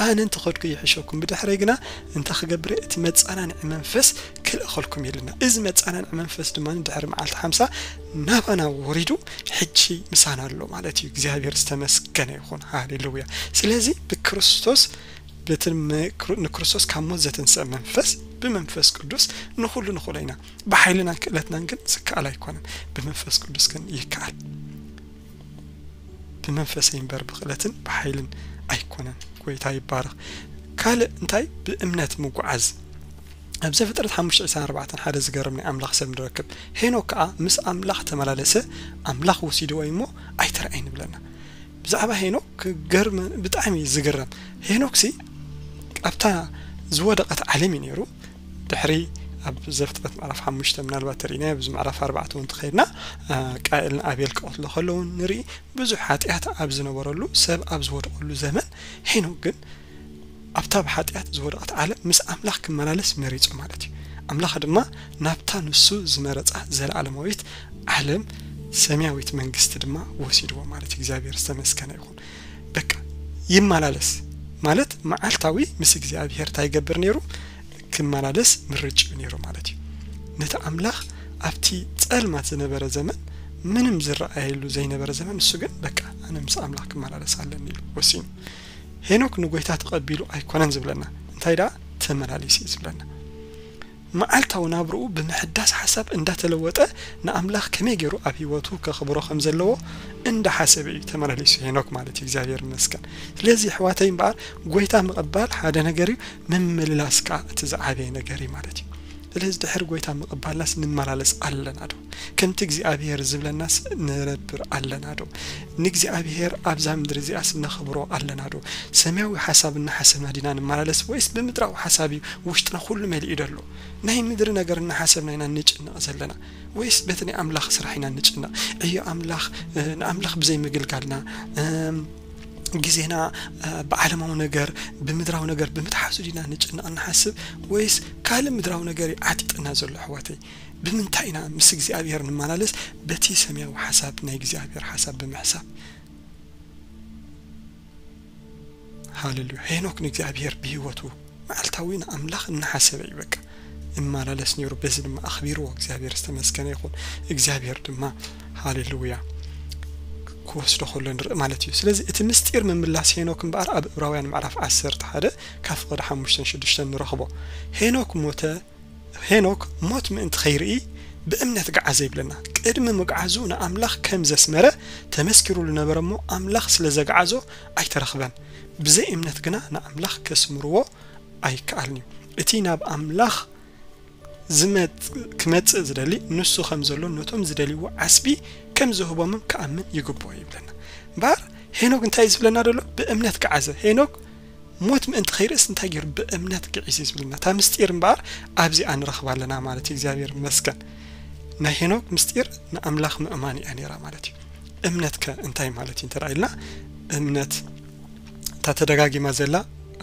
ኣነ እንተኸድኩ ይሕሸኩም፣ ብድሕረይ ግና እንተ ክገብረ እቲ መጸናንዒ መንፈስ ክልእኸልኩም ኢልና። እዚ መጸናንዒ መንፈስ ድማ ድሕሪ መዓልቲ ሓምሳ ናባና ወሪዱ ሕጂ ምሳና ኣሎ ማለት እዩ። እግዚኣብሔር ዝተመስገነ ይኹን። ሃሌሉያ። ስለዚ ብክርስቶስ፣ በቲ ንክሩ-፣ ንክርስቶስ ካብ ሞት ዘተንስአ መንፈስ ብመንፈስ ቅዱስ ንኹሉ ንኽእሎ ኢና። ብሓይልናን ክእለትናን ግን ዝከኣል ኣይኮነን። ብመንፈስ ቅዱስ ግን ይከኣል። "ብመንፈሰይ እምበር ብኽእለትን ብሓይልን ኣይኮነን።" ጐይታ ይባረኽ። ካልእ እንታይ? ብእምነት ምጉዓዝ። ኣብ ዘፍጥረት ሓሙሽተ ዕስራን ኣርባዕተን ሓደ ዝገርም ናይ ኣምላኽ ሰብ ንረክብ። ሄኖክ ከኣ ምስ ኣምላኽ ተመላለሰ፣ ኣምላኽ ወሲድዎ እዩ እሞ ኣይተረኣየን ይብለና። ብዛዕባ ሄኖክ ክገርም፣ ብጣዕሚ እዩ ዝግረም። ሄኖክሲ ኣብታ ዝወደቐት ዓለም እዩ ነይሩ። ድሕሪ ኣብ ዘፍጥረት ምዕራፍ ሓሙሽተ ምናልባት ተርእይና፣ ኣብዚ ምዕራፍ ኣርባዕተ እውን ተኸይድና፣ ቃኤልን ኣቤል ክቐትሎ ከለዉ ንርኢ። ብዙሕ ሓጢኣት ኣብ ዝነበረሉ፣ ሰብ ኣብ ዝወደቐሉ ዘመን፣ ሄኖክ ግን ኣብታ ብሓጢኣት ዝወደቐት ዓለም ምስ ኣምላኽ ክመላለስ መሪጹ ማለት እዩ። ኣምላኽ ድማ ናብታ ንሱ ዝመረጻ ዘለኣለማዊት ዓለም፣ ሰማያዊት መንግስቲ ድማ ወሲድዎ ማለት እዩ። እግዚኣብሔር ዝተመስገነ ይኹን። በቃ ይመላለስ ማለት መዓልታዊ ምስ እግዚኣብሔር እንታይ ይገብር ነይሩ? ክመላለስ ምርጭ ነይሩ ማለት እዩ። ነቲ ኣምላኽ ኣብቲ ጸልማት ዝነበረ ዘመን፣ ምንም ዝረኣየሉ ዘይነበረ ዘመን፣ እሱ ግን በቃ ኣነ ምስ ኣምላኽ ክመላለስ ኣለኒ ኢሉ ወሲኑ። ሄኖክ ንጎይታ ተቐቢሉ ኣይኮነን ዝብለና፣ እንታይ ደኣ ተመላሊሱ እዩ ዝብለና። መዓልታዊ ናብርኡ ብምሕዳስ ሓሳብ እንዳተለወጠ ንኣምላኽ ከመይ ገይሩ ኣብ ህይወቱ ከኽብሮ ከም ዘለዎ እንዳሓሰበ እዩ ተመላሊሱ ሄኖክ ማለት እዩ። እግዚኣብሔር ይመስገን። ስለዚ ኣሕዋተይ እምበኣር ጎይታ ምቕባል ሓደ ነገር እዩ፣ ምምልላስ ከኣ እቲ ዝዓበየ ነገር እዩ ማለት እዩ። ስለዚ ድሕሪ ጎይታ ምቕባልናስ ንመላለስ ኣለና ዶ? ከምቲ እግዚኣብሔር ዝብለናስ ንነብር ኣለና ዶ? ንእግዚኣብሔር ኣብዛ ምድሪ እዚኣስ ነኽብሮ ኣለና ዶ? ሰማያዊ ሓሳብ እናሓሰብና ዲና ንመላለስ ወይስ ብምድራዊ ሓሳብ እዩ ውሽጥና ኩሉ መሊኡ ደሎ? ናይ ምድሪ ነገር እናሓሰብና ኢና ንጭነቕ ዘለና ወይስ በቲ ናይ ኣምላኽ ስራሕ ኢና ንጭነቕ? ዕዮ ኣምላኽ፣ እ፣ ንኣምላኽ ብዘይ ምግልጋልና፣ እም፣ ግዜና፣ እ፣ ብዓለማዊ ነገር፣ ብምድራዊ ነገር ብምትሓዙ ዲና ንጭነቕ ንሓስብ ወይስ ካልእ ምድራዊ ነገር እዩ ዓጢጥና ዘሎ ኣሕዋተይ? ብምንታይ ኢና ምስ እግዚኣብሔር ንመላለስ? በቲ ሰማያዊ ሓሳብ ናይ እግዚኣብሔር ሓሳብ ብምሕሳብ። ሃሌሉያ። ሄኖክ ንእግዚኣብሔር ብህይወቱ መዓልታዊ ንኣምላኽ እናሓሰበ እዩ በቃ እመላለስ ነይሩ። በዚ ድማ ኣኽቢርዎ። እግዚኣብሔር ዝተመስገነ ይኹን። እግዚኣብሔር ድማ ሃሌሉያ ክወስዶ ከሎ ንርኢ ማለት እዩ። ስለዚ እቲ ምስጢር ምምላስ ሄኖክ እምበኣር ኣብ ዕብራውያን ምዕራፍ ዓሰርተ ሓደ ካብ ፍቕዲ ሓሙሽተን ሽዱሽተን ንረኽቦ። ሄኖክ ሞተ፣ ሄኖክ ሞት ምእንቲ ኸይርኢ ብእምነት ገዓዘ ይብለና። ቅድሚ ምግዓዙ ንኣምላኽ ከም ዘስመረ ተመስኪሩሉ ነበረ እሞ፣ ኣምላኽ ስለ ዘግዓዞ ኣይተረኽበን። ብዘይ እምነት ግና ንኣምላኽ ከስምርዎ ኣይከኣልን እዩ። እቲ ናብ ኣምላኽ ዝመጽ-፣ ክመጽእ ዝደሊ፣ ንሱ ከም ዘሎ ነቶም ዝደልይዎ ዓስቢ ከም ዝህቦምን ክኣምን ይግብኦ ይብለና። እምበኣር ሄኖክ እንታይ እዩ ዝብለና ዘሎ? ብእምነት ገዓዘ። ሄኖክ ሞት ምእንቲ ከይርእስ እንታይ ገይሩ? ብእምነት ግዒዙ እዩ ዝብለና። እታ ምስጢር እምበኣር ኣብዚኣ ንረኽባ ኣለና ማለት እዩ። እግዚኣብሔር ይመስገን። ናይ ሄኖክ ምስጢር ንኣምላኽ ምእማን እያ ነይራ ማለት እዩ። እምነት ከ እንታይ ማለት እዩ እንተ ደኣ ኢልና፣ እምነት እታ ተደጋጊማ ዘላ፣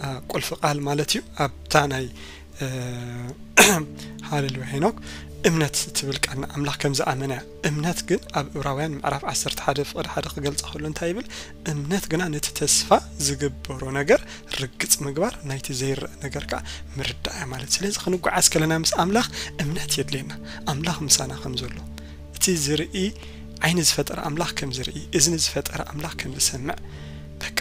አ፣ ቁልፊ ቃል ማለት እዩ። ኣብታ ናይ፣ እ፣ ሃሌሉያ ሄኖክ እምነት ትብል ቃል ንኣምላኽ ከም ዝኣመነ እያ። እምነት ግን ኣብ ዕብራውያን ምዕራፍ ዓሰርተ ሓደ ፍቕዲ ሓደ ክገልጻ ከሎ እንታይ ይብል? እምነት ግና ነቲ ተስፋ ዝግበሮ ነገር ርግጽ ምግባር፣ ናይቲ ዘይረአ ነገር ከኣ ምርዳእ እያ ማለት። ስለዚ ክንጓዓዝ ከለና ምስ ኣምላኽ እምነት የድልየና፣ ኣምላኽ ምሳና ከም ዘሎ፣ እቲ ዝርኢ ዓይኒ ዝፈጠረ ኣምላኽ ከም ዝርኢ፣ እዝኒ ዝፈጠረ ኣምላኽ ከም ዝሰምዕ፣ በቃ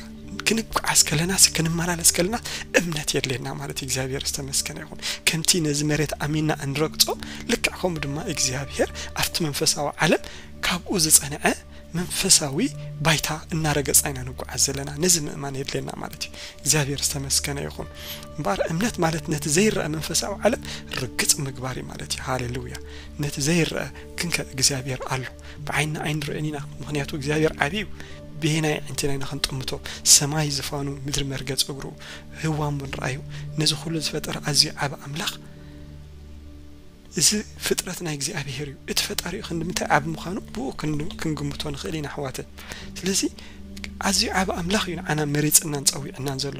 ክንጓዓዝ ከለናስ፣ ክንመላለስ ከለና እምነት የድልየና ማለት እዩ። እግዚኣብሔር ዝተመስገነ ይኹን። ከምቲ ነዚ መሬት ኣሚንና እንረግጾ፣ ልክዕ ከምኡ ድማ እግዚኣብሔር ኣብቲ መንፈሳዊ ዓለም ካብኡ ዝጸንዐ መንፈሳዊ ባይታ እናረገጽና ኢና ንጓዓዝ ዘለና። ነዚ ምእማን የድልየና ማለት እዩ። እግዚኣብሔር ዝተመስገነ ይኹን። እምበኣር እምነት ማለት ነቲ ዘይረአ መንፈሳዊ ዓለም ርግጽ ምግባር እዩ ማለት እዩ። ሃሌሉያ። ነቲ ዘይረአ ግን ከ እግዚኣብሔር ኣሎ። ብዓይንና ኣይንርእን ኢና። ምኽንያቱ እግዚኣብሔር ዓብዪ እዩ። ብየናይ ኣዒንትና ኢና ክንጥምቶ? ሰማይ ዝፋኑ፣ ምድሪ መርገጽ እግሩ፣ ህዋ እሞ ንርኣዩ። ነዚ ኩሉ ዝፈጠረ ኣዝዩ ዓቢ ኣምላኽ፣ እዚ ፍጥረት ናይ እግዚኣብሔር እዩ። እቲ ፈጣሪኡ ክንዲ ምንታይ ዓቢ ምዃኑ ብኡ ክን-፣ ክንግምቶ ንኽእል ኢና ኣሕዋተይ። ስለዚ ኣዝዩ ዓቢ ኣምላኽ እዩ ንዓና መሪጽናን ጸዊዕናን ዘሎ።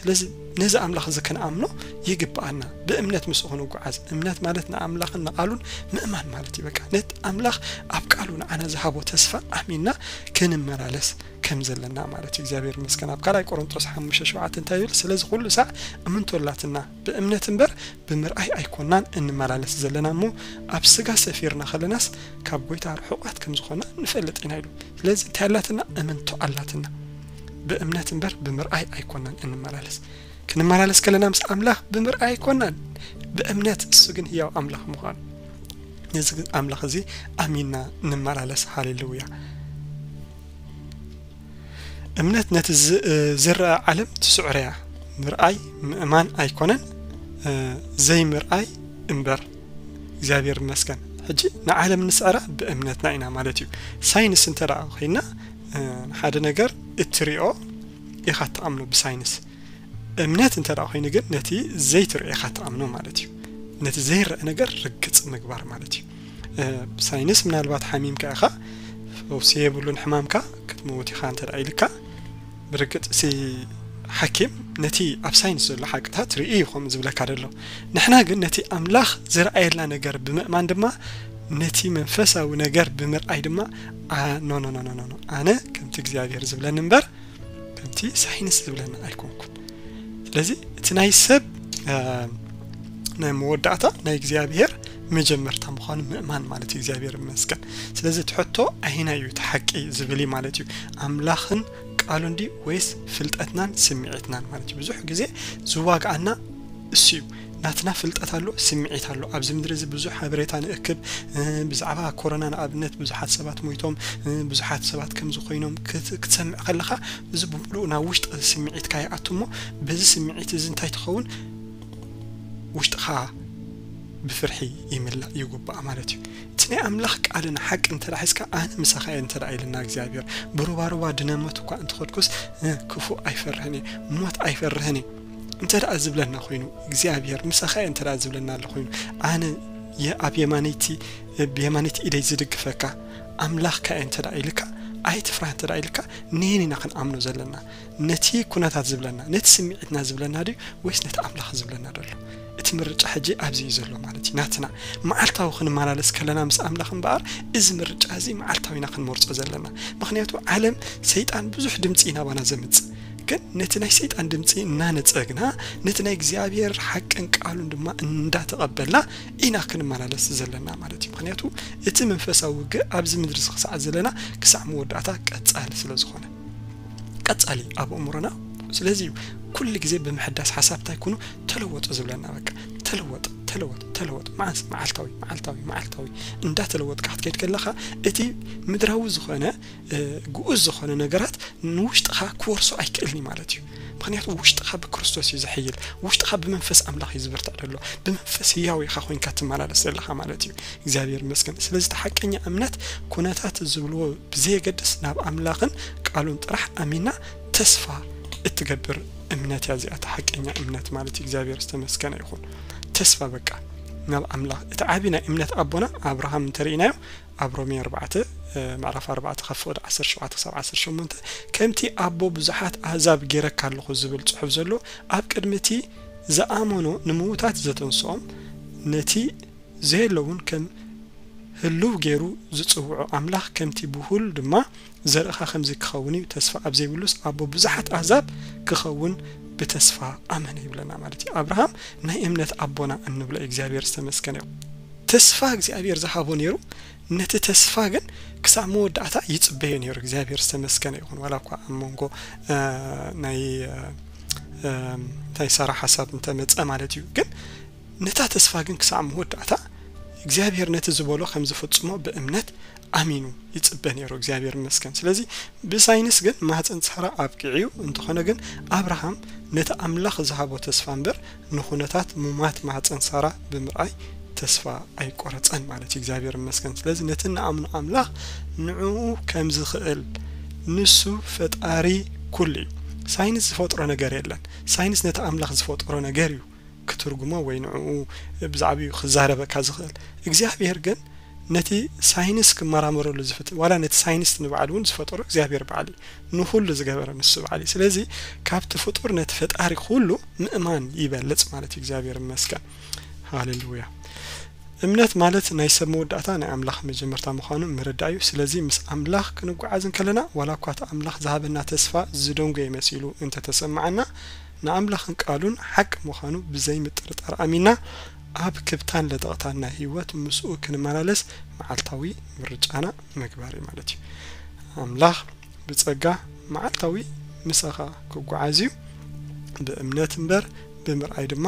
ስለዚ ነዚ ኣምላኽ እዚ ክንኣምኖ ይግብኣና። ብእምነት ምስኡ ክንጉዓዝ። እምነት ማለት ንኣምላኽን ንቓሉን ምእማን ማለት እዩ። በቃ ነቲ ኣምላኽ ኣብ ቃሉ ንዓና ዝሃቦ ተስፋ ኣሚንና ክንመላለስ ከም ዘለና ማለት እዩ። እግዚኣብሔር ይመስገን። ኣብ ካልኣይ ቆሮንቶስ ሓሙሽተ ሸውዓተ እንታይ ይብል? ስለዚ ኩሉ ሳዕ እምንቶ ኣላትና፣ ብእምነት እምበር ብምርኣይ ኣይኮናን እንመላለስ ዘለና እሞ፣ ኣብ ስጋ ሰፊርና ከለናስ ካብ ጎይታ ርሑቓት ከም ዝኾና ንፈልጥ ኢና ኢሉ። ስለዚ እንታይ ኣላትና? እምንቶ ኣላትና። ብእምነት እምበር ብምርኣይ ኣይኮናን እንመላለስ። ክንመላለስ ከለና ምስ ኣምላኽ ብምርኣይ ኣይኮናን፣ ብእምነት፣ እሱ ግን ህያው ኣምላኽ ምዃኑ። ነዚ ኣምላኽ እዚ ኣሚንና ንመላለስ። ሃሌሉያ። እምነት ነቲ ዝ-፣ ዝረኣ ዓለም ትስዕሮ እያ። ምርኣይ ምእማን ኣይኮነን፣ እ፣ ዘይምርኣይ እምበር። እግዚኣብሔር ይመስገን። ሕጂ ንዓለም ንስዕራ ብእምነትና ኢና ማለት እዩ። ሳይንስ እንተ ደኣ ኮይና፣ እ፣ ሓደ ነገር እትሪኦ ኢኻ እትኣምኖ ብሳይንስ። እምነት እንተ ደኣ ኮይኑ ግን ነቲ ዘይትርእዮ ኢኻ ትኣምኖ ማለት እዩ። ነቲ ዘይረአ ነገር ርግጽ ምግባር ማለት እዩ። ሳይንስ ምናልባት ሓሚምካ ኢኻ፣ ፈውሲ የብሉን ሕማምካ፣ ክትመውት ኢኻ እንተ ደኣ ኢልካ፣ ብርግጽ ሲ ሓኪም ነቲ ኣብ ሳይንስ ዘሎ ሓቅታት ርኢ እዩ ከምኡ ዝብለካ ዘሎ። ንሕና ግን ነቲ ኣምላኽ ዝረኣየልና ነገር ብምእማን ድማ ነቲ መንፈሳዊ ነገር ብምርኣይ ድማ ኖ ኖ ኖ ኖ ኣነ ከምቲ እግዚኣብሔር ዝብለኒ እምበር ከምቲ ሳይንስ ዝብለኒ ኣይኮንኩን። ስለዚ እቲ ናይ ሰብ ናይ መወዳእታ ናይ እግዚኣብሔር መጀመርታ ምዃኑ ምእማን ማለት እዩ። እግዚኣብሔር ይመስገን። ስለዚ እቲ ሕቶ ኣየናይ እዩ እቲ ሓቂ ዝብል እዩ ማለት እዩ። ኣምላኽን ቃሉን ድዩ ወይስ ፍልጠትናን ስምዒትናን ማለት እዩ። ብዙሕ ግዜ ዝዋግኣና እሱ እዩ። ናትና ፍልጠት ኣሎ፣ ስምዒት ኣሎ። ኣብዚ ምድሪ እዚ ብዙሕ ሓበሬታ ንእክብ። ብዛዕባ ኮሮና ንኣብነት ብዙሓት ሰባት ሞይቶም፣ ብዙሓት ሰባት ከምዚ ኮይኖም ክትሰምዕ ከለኻ እዚ ብምሉኡ ናብ ውሽጢ ስምዒትካ ይኣቱ እሞ በዚ ስምዒት እዚ እንታይ ትኸውን? ውሽጥኻ ብፍርሒ ይምላእ ይጉባእ ማለት እዩ። እቲ ናይ ኣምላኽ ቃልን ሓቂ እንተ ሒዝካ ኣነ ምሳኻ እየ እንተ ኢልና እግዚኣብሔር ብሩባሩባ ድነመት እኳ እንተኸድኩስ ክፉእ ኣይፈርህን እየ፣ ሞት ኣይፈርህን እየ እንተ ደኣ ዝብለና ኮይኑ እግዚኣብሔር ምሳኻ እየ እንተ ደኣ ዝብለና ኣሎ ኮይኑ ኣነ ኣብ የማነይቲ ብየማነይቲ ኢደይ ዝድግፈካ ኣምላኽካ እየ እንተ ደኣ ኢልካ ኣይትፍራህ እንተ ደኣ ኢልካ ነየን ኢና ክንኣምኖ ዘለና? ነቲ ኩነታት ዝብለና ነቲ ስምዒትና ዝብለና ድዩ ወይስ ነቲ ኣምላኽ ዝብለና ደሎ? እቲ ምርጫ ሕጂ ኣብዚ እዩ ዘሎ ማለት እዩ። ናትና መዓልታዊ ክንመላለስ ከለና ምስ ኣምላኽ እምበኣር እዚ ምርጫ እዚ መዓልታዊ ኢና ክንመርጾ ዘለና። ምኽንያቱ ዓለም ሰይጣን ብዙሕ ድምጺ እዩ ናባና ዘምጽእ። ግን ነቲ ናይ ሰይጣን ድምጺ እናነጸግና ነቲ ናይ እግዚኣብሔር ሓቅን ቃሉን ድማ እንዳተቐበልና ኢና ክንመላለስ ዘለና ማለት እዩ። ምኽንያቱ እቲ መንፈሳዊ ውግእ ኣብዚ ምድሪ ክሳዕ ዘለና ክሳዕ መወዳእታ ቀጻሊ ስለ ዝኾነ ቀጻሊ ኣብ ኣእምሮና። ስለዚ እዩ ኩሉ ግዜ ብምሕዳስ ሓሳብ እንታይ ኩኑ ተለወጡ ዝብለና። በቃ ተለወጥ ተለወጥ ተለወጥ መዓስ መዓልታዊ መዓልታዊ መዓልታዊ እንዳተለወጥካ ክትከይድ ከለኻ እቲ ምድራዊ ዝኾነ ግኡዝ ዝኾነ ነገራት ንውሽጥኻ ክወርሶ ኣይክእልን እዩ ማለት እዩ። ምኽንያቱ ውሽጥኻ ብክርስቶስ እዩ ዝሕይል። ውሽጥኻ ብመንፈስ ኣምላኽ እዩ ዝብርትዕ ዘሎ። ብመንፈስ ህያው ኢኻ ኮይንካ ትመላለስ ዘለኻ ማለት እዩ። እግዚኣብሔር ይመስገን። ስለዚ እቲ ሓቀኛ እምነት ኩነታት ዝብልዎ ብዘየገድስ ናብ ኣምላኽን ቃሉን ጥራሕ ኣሚና ተስፋ እትገብር እምነት እያ እዚኣ። እቲ ሓቀኛ እምነት ማለት እዩ። እግዚኣብሔር ዝተመስገነ ይኹን። ተስፋ በቃ ናብ ኣምላኽ። እቲ ዓቢ ናይ እምነት ኣቦና ኣብርሃም እንተርኢናዮ ኣብ ሮሜ ኣርባዕተ ምዕራፍ ኣርባዕተ ካብ ፍቕዲ ዓሰርተ ሸውዓተ ክሳብ ዓሰርተ ሸሞንተ ከምቲ ኣቦ ብዙሓት ኣህዛብ ጌረካ ኣለኹ ዝብል ጽሑፍ ዘሎ ኣብ ቅድሚ እቲ ዝኣመኖ ንምዉታት ዘተንስኦም ነቲ ዘየለውን ከም ህልው ገይሩ ዝጽውዖ ኣምላኽ ከምቲ ብሁል ድማ ዘርእኻ ከምዚ ክኸውን እዩ ተስፋ ኣብ ዘይብሉስ ኣቦ ብዙሓት ኣህዛብ ክኸውን ብተስፋ ኣመነ ይብለና ማለት እዩ። ኣብርሃም ናይ እምነት ኣቦና እንብሎ እግዚኣብሔር ዝተመስገነ እዩ። ተስፋ እግዚኣብሔር ዝሃቦ ነይሩ። ነቲ ተስፋ ግን ክሳብ መወዳእታ ይጽበዮ ነይሩ። እግዚኣብሔር ዝተመስገነ ይኹን። ዋላ እኳ ኣብ መንጎ ናይ እንታይ ሳራ ሓሳብ እንተመጸ ማለት እዩ። ግን ነታ ተስፋ ግን ክሳብ መወዳእታ እግዚኣብሔር ነቲ ዝበሎ ከም ዝፍጽሞ ብእምነት ኣሚኑ ይጽበ ነይሩ። እግዚኣብሔር ይመስገን። ስለዚ ብሳይንስ ግን ማህፀን ሳራ ኣብቂዑ እዩ። እንተኾነ ግን ኣብርሃም ነቲ ኣምላኽ ዝሃቦ ተስፋ እምበር ንኹነታት ሙማት ማህፀን ሳራ ብምርኣይ ተስፋ ኣይቆረጸን ማለት እዩ። እግዚኣብሔር ይመስገን። ስለዚ ነቲ ንኣምኖ ኣምላኽ ንዕኡ ከም ዝኽእል ንሱ ፈጣሪ ኩሉ እዩ። ሳይንስ ዝፈጥሮ ነገር የለን። ሳይንስ ነቲ ኣምላኽ ዝፈጥሮ ነገር እዩ ክትርጉሞ ወይ ንዕኡ ብዛዕባኡ ክዛረበካ ዝኽእል። እግዚኣብሔር ግን ነቲ ሳይንስ ክመራመረሉ ዝፍትን ዋላ ነቲ ሳይንስ ንባዕሉ እውን ዝፈጠሮ እግዚኣብሔር በዓል እዩ። ንኹሉ ዝገበረ ንሱ በዓል እዩ። ስለዚ ካብቲ ፍጡር ነቲ ፈጣሪ ኩሉ ምእማን ይበልጽ ማለት እዩ። እግዚኣብሔር ይመስገን። ሃሌሉያ። እምነት ማለት ናይ ሰብ መወዳእታ ናይ ኣምላኽ መጀመርታ ምዃኑ ምርዳእ እዩ። ስለዚ ምስ ኣምላኽ ክንጓዓዝ እንከለና ዋላ እኳ እቲ ኣምላኽ ዝሃበና ተስፋ ዝደንጎየ መሲሉ እንተተሰምዓና ንኣምላኽን ቃሉን ሓቂ ምዃኑ ብዘይምጥርጣር ኣሚንና ኣብ ክብታን ለጠቕታን ናይ ህይወት ምስኡ ክንመላለስ መዓልታዊ ምርጫና ምግባር እዩ ማለት እዩ። ኣምላኽ ብጸጋ መዓልታዊ ምሳኻ ክጓዓዝ እዩ ብእምነት እምበር ብምርኣይ ድማ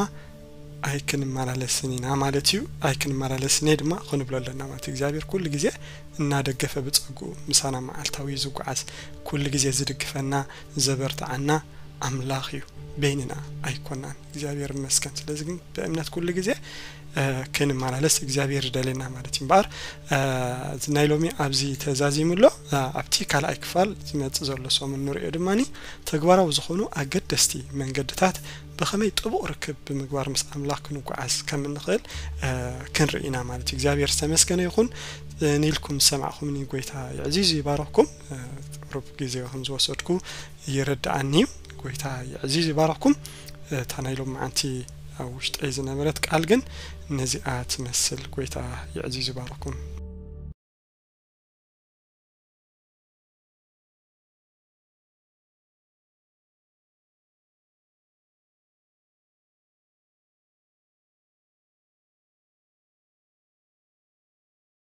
ኣይክንመላለስን ኢና ማለት እዩ። ኣይክንመላለስን እየ ድማ ክንብሎ ኣለና ማለት እዩ። እግዚኣብሔር ኩሉ ግዜ እናደገፈ ብጸግኡ ምሳና መዓልታዊ እዩ ዝጓዓዝ። ኩሉ ግዜ ዝድግፈና ዘበርትዓና ኣምላኽ እዩ፣ በይንና ኣይኮናን። እግዚኣብሔር ይመስገን። ስለዚ ግን ብእምነት ኩሉ ግዜ ክንመላለስ እግዚኣብሔር ይደልየና ማለት እዩ። እምበኣር ናይ ሎሚ ኣብዚ ተዛዚሙ ኣሎ። ኣብቲ ካልኣይ ክፋል ዝመጽእ ዘሎ ሰሙን ንሪኦ ድማ ተግባራዊ ዝኾኑ ኣገደስቲ መንገድታት ብኸመይ ጥቡቕ ርክብ ብምግባር ምስ ኣምላኽ ክንጓዓዝ ከም እንኽእል ክንርኢ ኢና ማለት እዩ። እግዚኣብሔር ዝተመስገነ ይኹን። ንኢልኩም ዝሰማዕኹምኒ ጎይታ ይዕዚዙ ይባረኽኩም። ሩብ ግዜ ከም ዝወሰድኩ ይርድኣኒ እዩ። ጎይታ ይዕዚዙ ይባረኽኩም። እታ ናይ ሎም መዓንቲ ኣብ ውሽጠይ ዝነበረት ቃል ግን ነዚኣ ትመስል። ጎይታ ይዕዚዙ ይባረኽኩም።